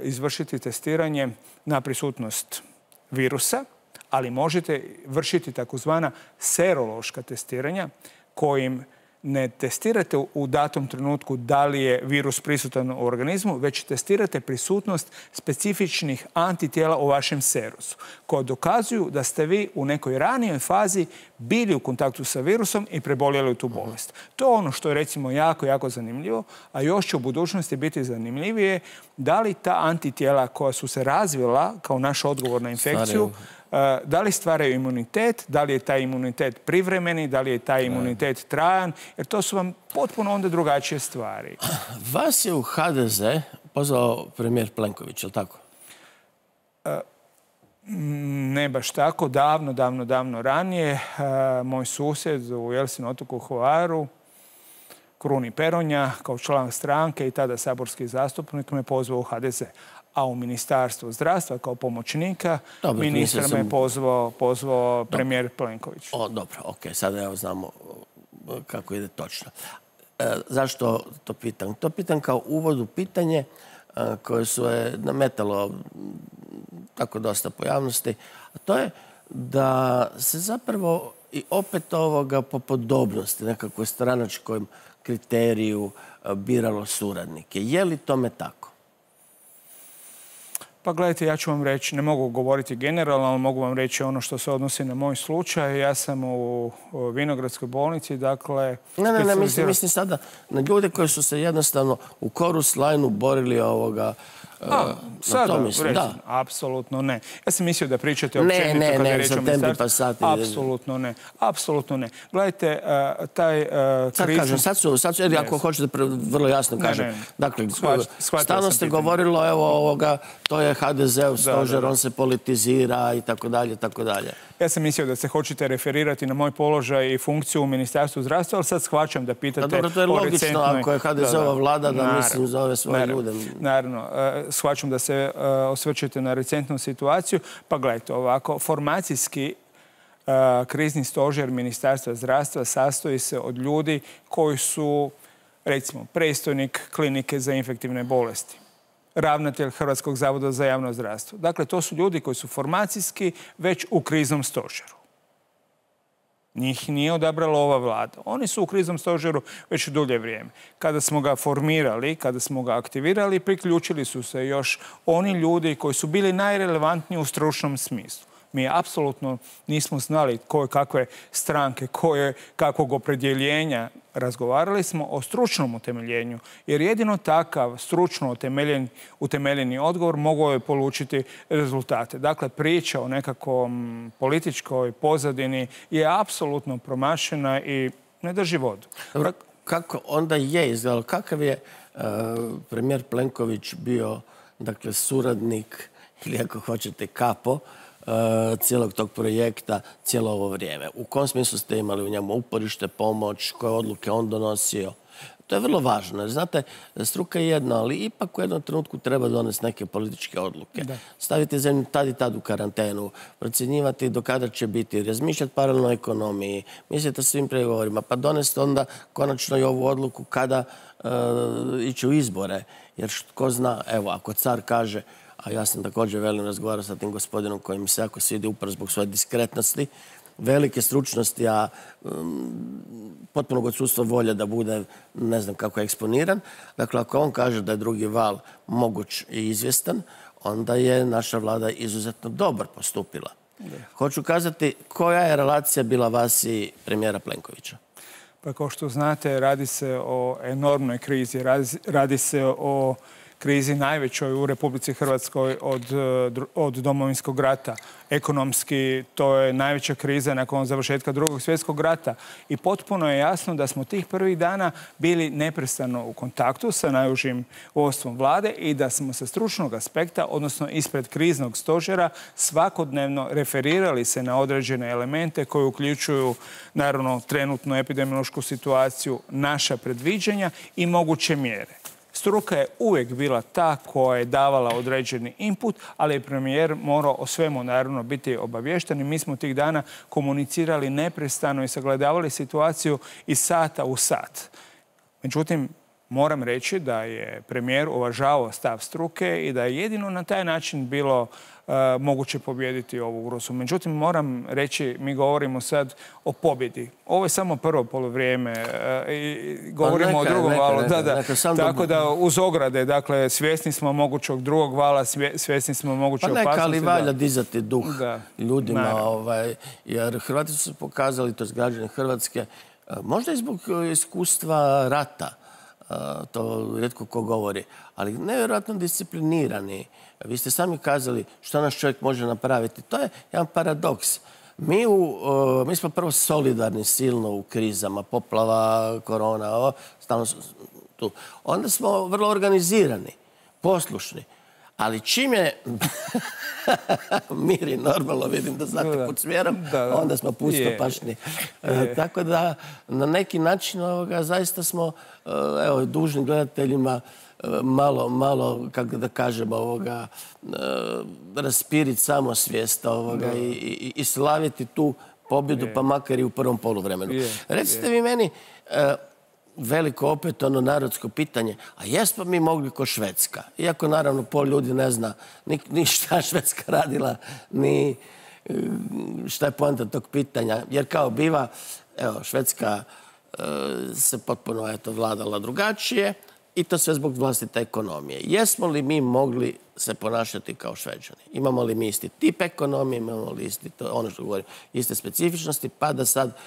izvršiti testiranje na prisutnost virusa, ali možete vršiti takozvana serološka testiranja kojim ne testirate u datom trenutku da li je virus prisutan u organizmu, već testirate prisutnost specifičnih antitijela u vašem serusu, koje dokazuju da ste vi u nekoj ranijoj fazi bili u kontaktu sa virusom i preboljeli tu bolest. To je ono što je recimo jako, jako zanimljivo, a još će u budućnosti biti zanimljivije da li ta antitijela koja su se razvila kao naš odgovor na infekciju, da li stvaraju imunitet, da li je taj imunitet privremeni, da li je taj imunitet trajan, jer to su vam potpuno onda drugačije stvari. Vas je u ha de ze pozvao premijer Plenković, je li tako? Ne baš tako. Davno, davno, davno ranije moj susjed u Jelsin otoku Hvaru, Kruni Peronja, kao član stranke i tada saborski zastupnik, me pozvao u ha de ze. A u Ministarstvu zdravstva kao pomoćnika dobro, ministra me je pozvao, pozvao premijer Plenković. O, dobro, ok, sada evo znamo kako ide točno. E, zašto to pitam? To pitam kao uvod u pitanje a, koje su je nametalo tako dosta pojavnosti, a to je da se zapravo i opet ovoga po podobnosti, nekakvoj stranačkom kriteriju a, biralo suradnike. Je li tome tako? Pa gledajte, ja ću vam reći, ne mogu govoriti generalno, ali mogu vam reći ono što se odnosi na moj slučaj. Ja sam u Vinogradskoj bolnici, dakle... Ne, ne, ne, mislim, mislim sada na ljude koji su se jednostavno u chorus line-u borili ovoga... A, sada, da. Apsolutno ne. Ja sam mislio da pričate općenito ne, ne, kada je ne, reč o ministarstvu. Apsolutno ne. Apsolutno ne. Gledajte, uh, taj uh, sad krizni... kažem, sad su, sad su, jer ako hoćete vrlo jasno kažem. Ne, ne. Dakle, stalno ste govorilo, evo ovoga, to je ha de ze-ov stožer, da, da. On se politizira i tako dalje, i tako dalje. Ja sam mislio da se hoćete referirati na moj položaj i funkciju u Ministarstvu zdravstva, ali sad shvaćam da pitate... Dobro, to je logično, ako je ha de ze-ova vlada, da mislim zove svoje ljude. Naravno, shvaćam da se osvrćete na recentnu situaciju. Pa gledajte, ovako, formacijski krizni stožer Ministarstva zdravstva sastoji se od ljudi koji su, recimo, predstojnik klinike za infektivne bolesti, ravnatelj Hrvatskog zavoda za javno zdravstvo. Dakle, to su ljudi koji su formacijski već u kriznom stožeru. Njih nije odabrala ova vlada. Oni su u kriznom stožeru već dulje vrijeme. Kada smo ga formirali, kada smo ga aktivirali, priključili su se još oni ljudi koji su bili najrelevantniji u stručnom smislu. Mi apsolutno nismo znali koje kakve stranke, koje kakvog opredjeljenja. Razgovarali smo o stručnom utemeljenju, jer jedino takav stručno utemeljen, utemeljeni odgovor mogao je polučiti rezultate. Dakle, priča o nekakvom političkoj pozadini je apsolutno promašena i ne drži vodu. Dobro, kako onda je izgledalo? Kakav je uh, premijer Plenković bio, dakle, suradnik ili ako hoćete kapo cijelog tog projekta, cijelo ovo vrijeme? U kom smislu ste imali u njemu uporište, pomoć, koje odluke on donosio? To je vrlo važno, jer znate, struka je jedna, ali ipak u jednom trenutku treba donesti neke političke odluke. Da. Staviti zemlju tad i tad u karantenu, procjenjivati do kada će biti, razmišljati paralelno o ekonomiji, misliti o svim pregovorima, pa donesti onda konačno i ovu odluku kada uh, ići u izbore. Jer ko zna, evo, ako car kaže, a ja sam također velim razgovarao sa tim gospodinom koji mi se jako svidi upravo zbog svoje diskretnosti, velike stručnosti, a um, potpunog odsustva volje da bude, ne znam kako, eksponiran. Dakle, ako on kaže da je drugi val moguć i izvjestan, onda je naša vlada izuzetno dobro postupila. Da. Hoću kazati, koja je relacija bila vas i premijera Plenkovića? Pa kao što znate, radi se o enormnoj krizi, radi, radi se o krizi najvećoj u Republici Hrvatskoj od, od Domovinskog rata. Ekonomski to je najveća kriza nakon završetka Drugog svjetskog rata. I potpuno je jasno da smo tih prvih dana bili neprestano u kontaktu sa najužim vodstvom vlade i da smo sa stručnog aspekta, odnosno ispred kriznog stožera, svakodnevno referirali se na određene elemente koje uključuju naravno trenutnu epidemiološku situaciju, naša predviđanja i moguće mjere. Struka je uvijek bila ta koja je davala određeni input, ali je premijer morao o svemu naravno biti obavješten i mi smo tih dana komunicirali neprestano i sagledavali situaciju iz sata u sat. Međutim, moram reći da je premijer uvažavao stav struke i da je jedino na taj način bilo uh, moguće pobijediti ovu ugrozu. Međutim, moram reći, mi govorimo sad o pobjedi. Ovo je samo prvo poluvrijeme uh, i govorimo neka, o drugom neka, valu. Neka, da, da. Neka, tako da uz ograde, dakle, svjesni smo mogućeg drugog vala, svjesni smo moguće opasnosti. Pa neka, ali valja dizati duh da, ljudima, ovaj, jer Hrvati su se pokazali, to je građani Hrvatske, možda i zbog iskustva rata, to rijetko ko govori, ali nevjerojatno disciplinirani. Vi ste sami kazali što naš čovjek može napraviti. To je jedan paradoks. Mi, u, mi smo prvo solidarni silno u krizama, poplava, korona, o, stalno tu. Onda smo vrlo organizirani, poslušni. Ali čim je mir i normalno, vidim da znate pod smjerom, onda smo pustopašni. Tako da na neki način ovoga, zaista smo evo, dužni gledateljima malo, malo, kako da kažem, ovoga, raspiriti samosvijest ovoga, i, i, i slaviti tu pobjedu, pa makar i u prvom poluvremenu. Recite vi meni, veliko opet ono narodsko pitanje, a jesmo mi mogli ko Švedska? Iako naravno pol ljudi ne zna ni, ni šta Švedska radila, ni šta je poanta tog pitanja. Jer kao biva, evo, Švedska e, se potpuno eto, vladala drugačije i to sve zbog vlastite ekonomije. Jesmo li mi mogli se ponašati kao Šveđani? Imamo li mi isti tip ekonomije, imamo li isti, to, ono što govorim, iste specifičnosti, pa da sad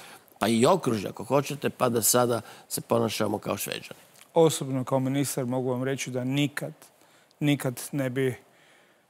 pa i okružje, ako hoćete, pa da sada se ponašamo kao Šveđani. Osobno, kao ministar, mogu vam reći da nikad, nikad ne bi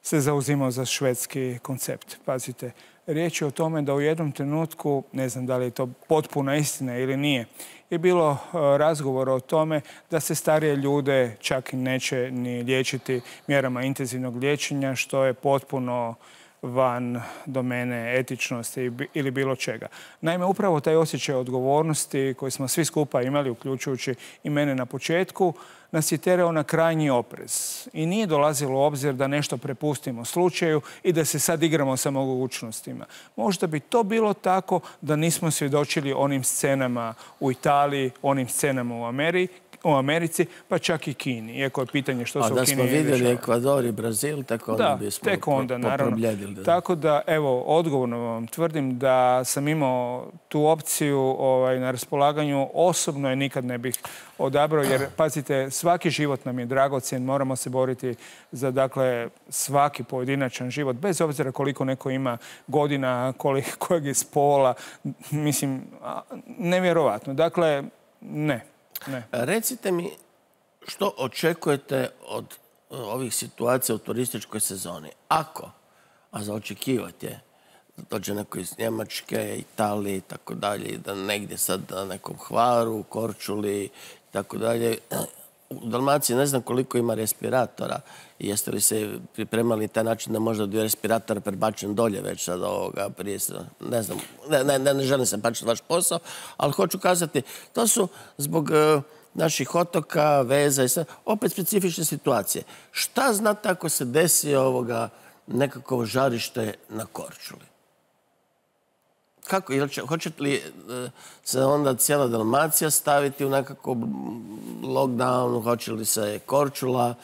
se zauzimao za švedski koncept. Pazite, riječ je o tome da u jednom trenutku, ne znam da li je to potpuna istina ili nije, je bilo razgovora o tome da se starije ljude čak i neće ni liječiti mjerama intenzivnog liječenja, što je potpuno van domene etičnosti ili bilo čega. Naime, upravo taj osjećaj odgovornosti koji smo svi skupa imali, uključujući i mene na početku, nas je terao na krajnji oprez. I nije dolazilo u obzir da nešto prepustimo slučaju i da se sad igramo sa mogućnostima. Možda bi to bilo tako da nismo svjedočili onim scenama u Italiji, onim scenama u Ameriji, u Americi, pa čak i Kini. Iako je pitanje što se u Kini dešava. A da smo vidjeli Ekvador i Brazil, tako onda bismo tek onda, naravno. Tako da, evo, odgovorno vam tvrdim da sam imao tu opciju ovaj, na raspolaganju. Osobno je nikad ne bih odabrao, jer, pazite, svaki život nam je dragocjen, moramo se boriti za, dakle, svaki pojedinačan život, bez obzira koliko neko ima godina, koliko, kojeg je spola. Mislim, nevjerovatno. Dakle, ne. Ne. Recite mi što očekujete od ovih situacija u turističkoj sezoni. Ako, a za očekivati je, da dođe neko iz Njemačke, Italije i tako dalje, da negdje sad na nekom Hvaru, Korčuli i tako dalje. U Dalmaciji ne znam koliko ima respiratora. Jeste li se pripremali taj način da možda dio respiratora prebačen dolje već sad ovoga prije se, ne znam, ne, ne, ne, ne želim se pačiti vaš posao, ali hoću kazati, to su zbog uh, naših otoka, veza i sve, opet specifične situacije. Šta znate ako se desi ovoga nekako žarište na Korčuli? Kako? Hoćete li se onda cijela Dalmacija staviti u nekako lockdown? Hoće li se Korčula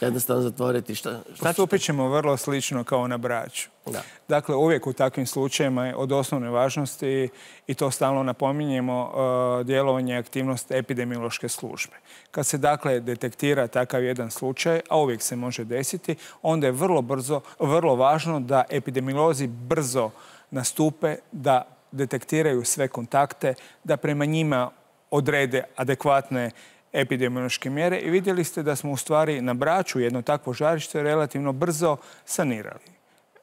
jednostavno zatvoriti? Šta, šta Postupit ćemo vrlo slično kao na Braču. Da. Dakle, uvijek u takvim slučajima je od osnovne važnosti, i to stalno napominjemo, djelovanje i aktivnost epidemiološke službe. Kad se, dakle, detektira takav jedan slučaj, a uvijek se može desiti, onda je vrlo brzo, vrlo važno da epidemiolozi brzo nastupe, da detektiraju sve kontakte, da prema njima odrede adekvatne epidemiološke mjere i vidjeli ste da smo u stvari na Braču jedno takvo žarište relativno brzo sanirali.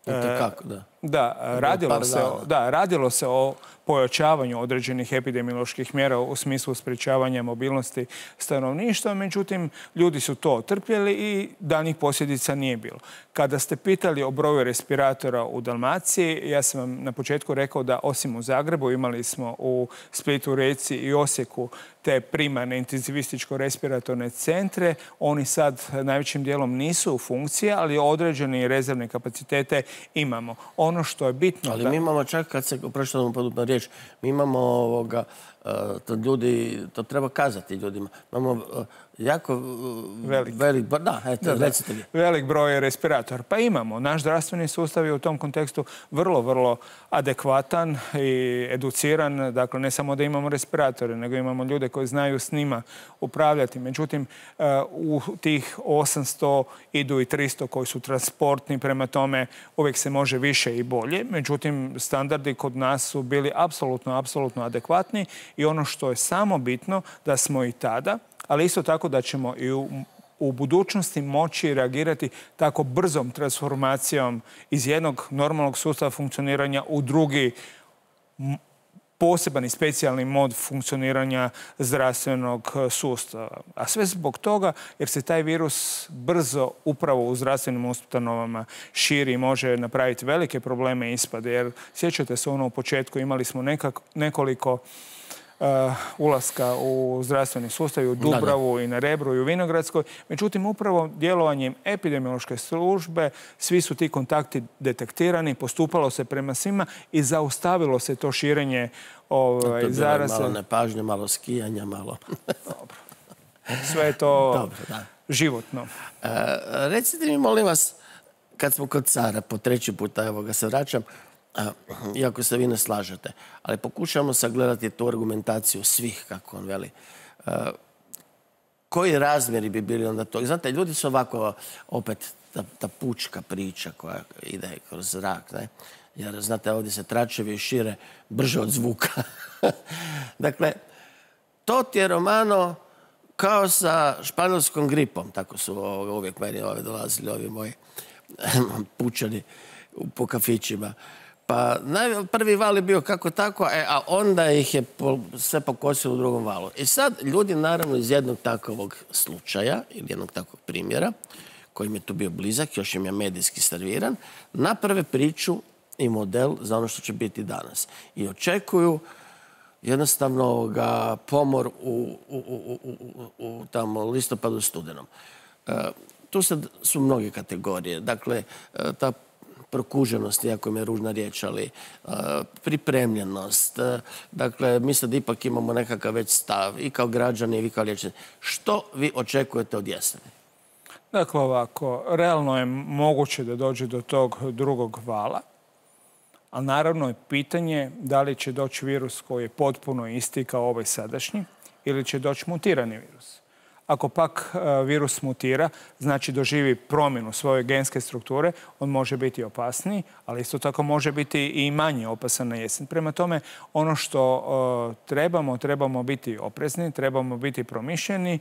I to kako, da? Da, radilo se, da, radilo se o pojačavanju određenih epidemioloških mjera u smislu sprječavanja mobilnosti stanovništva, međutim, ljudi su to trpjeli i daljnjih posljedica nije bilo. Kada ste pitali o broju respiratora u Dalmaciji, ja sam vam na početku rekao da osim u Zagrebu imali smo u Splitu, Rijeci i Osijeku te primarne intenzivističko-respiratorne centre. Oni sad najvećim dijelom nisu u funkciji, ali određene rezervne kapacitete imamo. Ono što je bitno... Ali da... mi imamo čak, kad se prošlo podupna riječ, mi imamo ovoga, to ljudi, to treba kazati ljudima, imamo jako velik, velik da, eto, da, recite mi. Velik broj respiratora. Pa imamo. Naš zdravstveni sustav je u tom kontekstu vrlo, vrlo adekvatan i educiran. Dakle, ne samo da imamo respiratore, nego imamo ljude koji znaju s njima upravljati. Međutim, u tih osamsto idu i tristo koji su transportni, prema tome uvijek se može više i bolje. Međutim, standardi kod nas su bili apsolutno, apsolutno adekvatni i ono što je samo bitno da smo i tada, ali isto tako da ćemo i u, u budućnosti moći reagirati tako brzom transformacijom iz jednog normalnog sustava funkcioniranja u drugi poseban i specijalni mod funkcioniranja zdravstvenog sustava. A sve zbog toga jer se taj virus brzo upravo u zdravstvenim ustanovama širi i može napraviti velike probleme i ispade. Jer sjećate se ono u početku imali smo nekak, nekoliko Uh, ulaska u zdravstveni sustav, u Dubravu i na Rebru i u Vinogradskoj. Međutim, upravo djelovanjem epidemiološke službe svi su ti kontakti detektirani, postupalo se prema svima i zaustavilo se to širenje ovaj, zaraze. Malo nepažnje, malo skijanja, malo... Dobro. Sve je to Dobro, da. životno. Uh, recite mi, molim vas, kad smo kod cara, po treći puta, evo ga se vraćam, iako se vi ne slažete, ali pokušamo sagledati tu argumentaciju svih, kako on veli. Koji razmjeri bi bili onda to? Znate, ljudi su ovako, opet, ta, ta pučka priča koja ide kroz zrak, ne? Jer, znate, ovdje se tračevi šire brže od zvuka. Dakle, to ti je, Romano, kao sa španjolskom gripom, tako su uvijek meni ove dolazili, ovi moji pučani po kafićima. Pa prvi val je bio kako tako, a onda ih je sve pokosilo u drugom valu. I sad ljudi, naravno, iz jednog takovog slučaja ili jednog takvog primjera, koji mi je tu bio blizak, još im je medijski serviran, naprave priču i model za ono što će biti danas. I očekuju jednostavno ga pomor u, u, u, u, u tamo listopadu, studenom. E, tu sad su mnoge kategorije. Dakle, ta prokuženost, iako mi je ružna riječ, ali uh, pripremljenost. Uh, dakle, mi sad ipak imamo nekakav već stav i kao građani i vi kao liječnici. Što vi očekujete od jeseni? Dakle, ovako, realno je moguće da dođe do tog drugog vala, ali naravno je pitanje da li će doći virus koji je potpuno isti kao ovaj sadašnji ili će doći mutirani virus. Ako pak virus mutira, znači doživi promjenu svoje genske strukture, on može biti opasniji, ali isto tako može biti i manje opasan na jesen. Prema tome, ono što uh, trebamo, trebamo biti oprezni, trebamo biti promišljeni,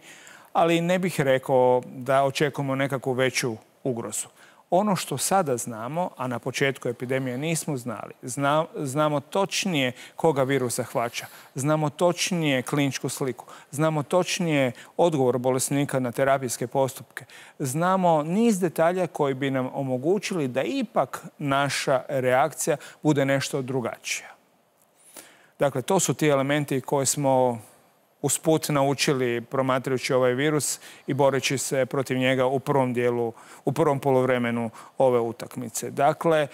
ali ne bih rekao da očekujemo nekakvu veću ugrozu. Ono što sada znamo, a na početku epidemije nismo znali, zna, znamo točnije koga virus zahvaća, znamo točnije kliničku sliku, znamo točnije odgovor bolesnika na terapijske postupke, znamo niz detalja koji bi nam omogućili da ipak naša reakcija bude nešto drugačija. Dakle, to su ti elementi koje smo usput naučili promatrajući ovaj virus i boreći se protiv njega u prvom dijelu, u prvom poluvremenu ove utakmice. Dakle,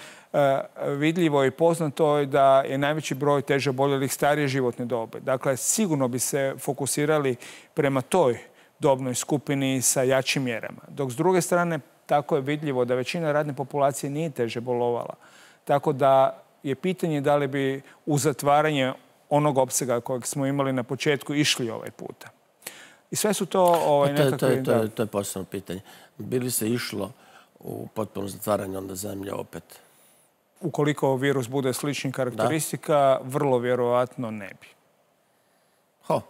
vidljivo i poznato je da je najveći broj teže oboljelih starije životne dobe. Dakle, sigurno bi se fokusirali prema toj dobnoj skupini sa jačim mjerama. Dok s druge strane, tako je vidljivo da većina radne populacije nije teže bolovala. Tako da je pitanje da li bi u zatvaranje onog opsega kojeg smo imali na početku išli ovaj puta. I sve su to ovaj, nekakve... To je, to, je, to, je, to je posebno pitanje. Bi li se išlo u potpuno zatvaranje onda zemlje opet? Ukoliko virus bude sličnih karakteristika, da? Vrlo vjerovatno ne bi. Ho,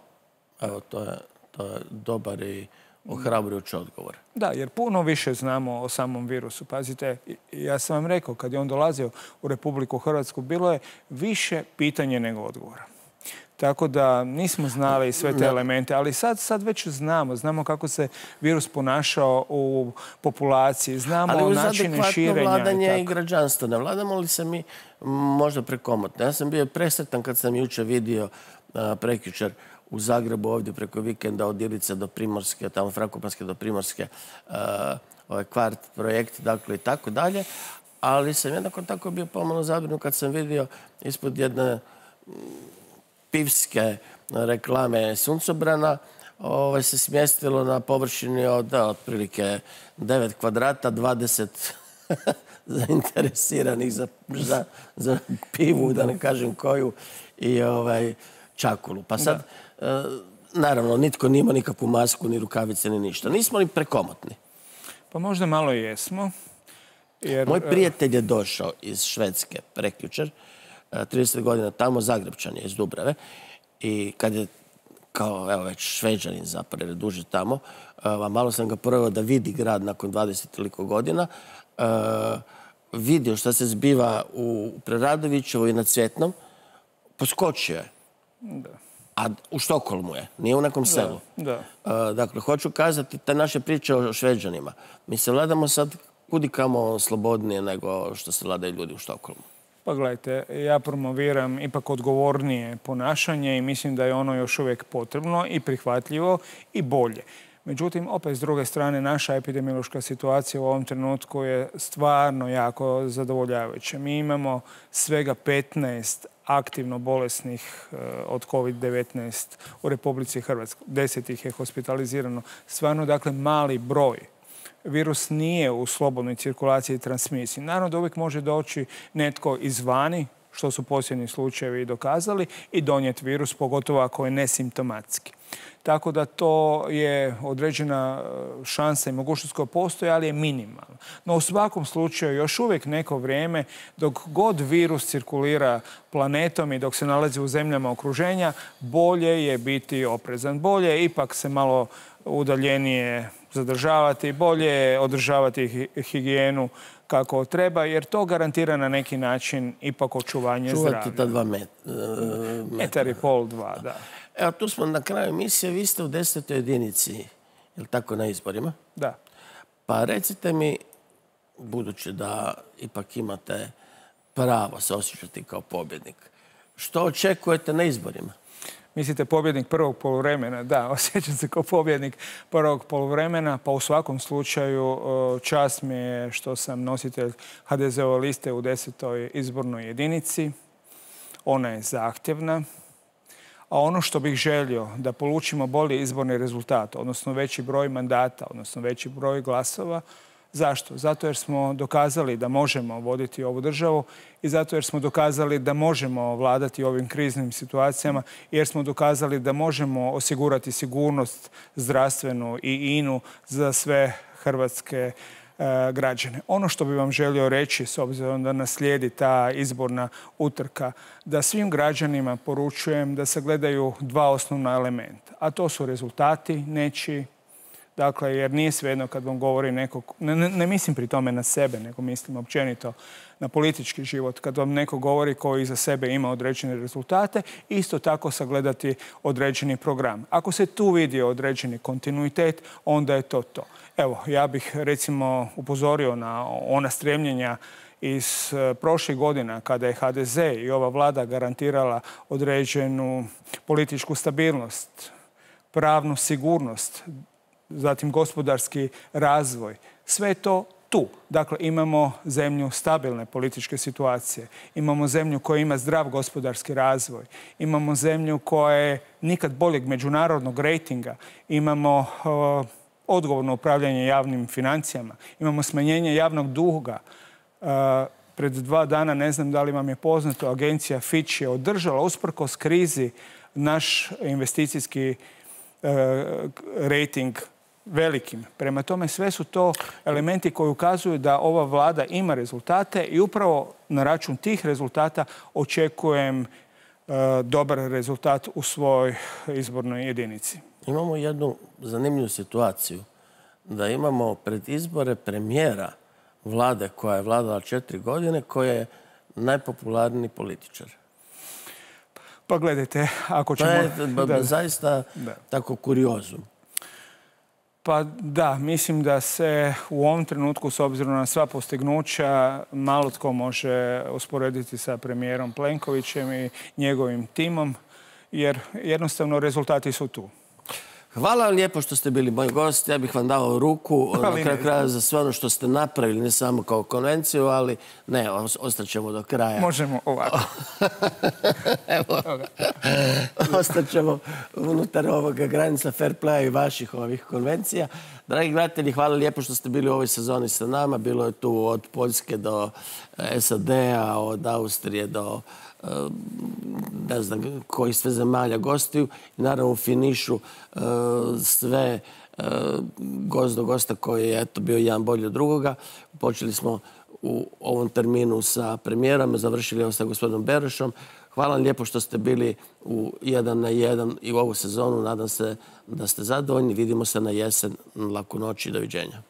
evo, to je, To je dobar i ohrabrujući odgovor. Da, jer puno više znamo o samom virusu. Pazite, ja sam vam rekao, kad je on dolazio u Republiku Hrvatsku, bilo je više pitanje nego odgovora. Tako da nismo znali sve te elemente, ali sad, sad već znamo. Znamo kako se virus ponašao u populaciji, znamo načine širenja. Ali uz adekvatno vladanje i građanstvo. Ne vladamo li se mi možda prekomotno? Ja sam bio presretan kad sam jučer vidio prekjučer u Zagrebu ovdje preko vikenda od Ilice do Primorske, tamo Frakopanske do Primorske, ovaj kvart projekt, dakle i tako dalje. Ali sam jednako tako bio pomalo zabrinut kad sam vidio ispod jedne pivske reklame suncobrana ovaj, se smjestilo na površini od da, otprilike devet kvadrata, dvadeset zainteresiranih za, za, za pivu, da ne kažem koju, i ovaj, čakulu. Pa sad, e, naravno, nitko nima nikakvu masku, ni rukavice, ni ništa. Nismo li prekomotni? Pa možda malo i jesmo. Jer... Moj prijatelj je došao iz Švedske prekjučer, trideset godina tamo, Zagrebčan je iz Dubrave, i kad je kao, evo već Šveđanin zapravo, jer je duže tamo, a malo sam ga proveo da vidi grad nakon dvadeset toliko godina, vidio šta se zbiva u Preradovićevu i na Cvjetnom, poskočio je. Da. A u Štokholmu je, nije u nekom selu. Da, da. Dakle, hoću kazati te naše priče o Šveđanima. Mi se vladamo sad kudikamo slobodnije nego što se vladaju ljudi u Štokholmu. Pa gledajte, ja promoviram ipak odgovornije ponašanje i mislim da je ono još uvijek potrebno i prihvatljivo i bolje. Međutim, opet s druge strane, naša epidemiološka situacija u ovom trenutku je stvarno jako zadovoljavajuća. Mi imamo svega petnaest aktivno bolesnih od kovid devetnaest u Republici Hrvatskoj. deset ih je hospitalizirano. Stvarno, dakle, mali broj. Virus nije u slobodnoj cirkulaciji i transmisiji. Naravno da uvijek može doći netko izvani, što su posljednji slučajevi dokazali, i donijeti virus, pogotovo ako je nesimptomatski. Tako da to je određena šansa i mogućnost koja postoji, ali je minimalna. No u svakom slučaju još uvijek neko vrijeme, dok god virus cirkulira planetom i dok se nalazi u zemljama okruženja, bolje je biti oprezan. Bolje je ipak se malo udaljenije zadržavati, bolje je održavati higijenu kako treba, jer to garantira na neki način ipak očuvanje zdravlja. Čuvati ta dva met, uh, metar i pol, dva, da. Evo, tu smo na kraju emisije, vi ste u desetoj jedinici, je li tako, na izborima? Da. Pa recite mi, budući da ipak imate pravo se osjećati kao pobjednik, što očekujete na izborima? Mislite pobjednik prvog poluvremena? Da, osjećam se kao pobjednik prvog poluvremena, pa u svakom slučaju čast mi je što sam nositelj ha de ze ove liste u desetoj izbornoj jedinici. Ona je zahtjevna. A ono što bih želio da polučimo bolji izborni rezultat, odnosno veći broj mandata, odnosno veći broj glasova. Zašto? Zato jer smo dokazali da možemo voditi ovu državu i zato jer smo dokazali da možemo vladati ovim kriznim situacijama, jer smo dokazali da možemo osigurati sigurnost zdravstvenu i inu za sve hrvatske e, građane. Ono što bih vam želio reći, s obzirom da nas slijedi ta izborna utrka, da svim građanima poručujem da se gledaju dva osnovna elementa, a to su rezultati nečiji. Dakle, jer nije svejedno kad vam govori neko, ne, ne, ne mislim pri tome na sebe, nego mislim općenito na politički život. Kad vam neko govori koji iza sebe ima određene rezultate, isto tako sagledati određeni program. Ako se tu vidi određeni kontinuitet, onda je to to. Evo, ja bih recimo upozorio na ona stremljenja iz prošlih godina kada je ha de ze i ova vlada garantirala određenu političku stabilnost, pravnu sigurnost, zatim gospodarski razvoj. Sve je to tu. Dakle, imamo zemlju stabilne političke situacije. Imamo zemlju koja ima zdrav gospodarski razvoj. Imamo zemlju koja je nikad boljeg međunarodnog rejtinga. Imamo uh, odgovorno upravljanje javnim financijama. Imamo smanjenje javnog duga. Uh, pred dva dana, ne znam da li vam je poznato, agencija Fitch je održala usprkos krizi naš investicijski uh, rejting velikim. Prema tome, sve su to elementi koji ukazuju da ova vlada ima rezultate i upravo na račun tih rezultata očekujem uh, dobar rezultat u svojoj izbornoj jedinici. Imamo jednu zanimljivu situaciju da imamo pred izbore premijera vlade koja je vladala četiri godine, koja je najpopularniji političar. Pa gledajte, ako ćemo... To je zaista tako kuriozum. Pa da, mislim da se u ovom trenutku, s obzirom na sva postignuća, malo tko može usporediti sa premijerom Plenkovićem i njegovim timom, jer jednostavno rezultati su tu. Hvala vam lijepo što ste bili moj gost. Ja bih vam dao ruku na kraju kraja za sve ono što ste napravili, ne samo kao konvenciju, ali ne, ostaćemo do kraja. Možemo ovako. Evo, ostaćemo unutar ovoga granica fair playa i vaših ovih konvencija. Dragi gledatelji, hvala lijepo što ste bili u ovoj sezoni sa nama. Bilo je tu od Poljske do S A D-a, od Austrije do ne znam kojih sve zemalja gostiju i naravno u finišu sve gost do gosta koji je eto bio jedan bolji od drugoga. Počeli smo u ovom terminu sa premijerom, završili ovo sa gospodinom Berošom. Hvala vam lijepo što ste bili u jedan na jedan i u ovu sezonu. Nadam se da ste zadovoljni. Vidimo se na jesen. Laku noć i doviđenja.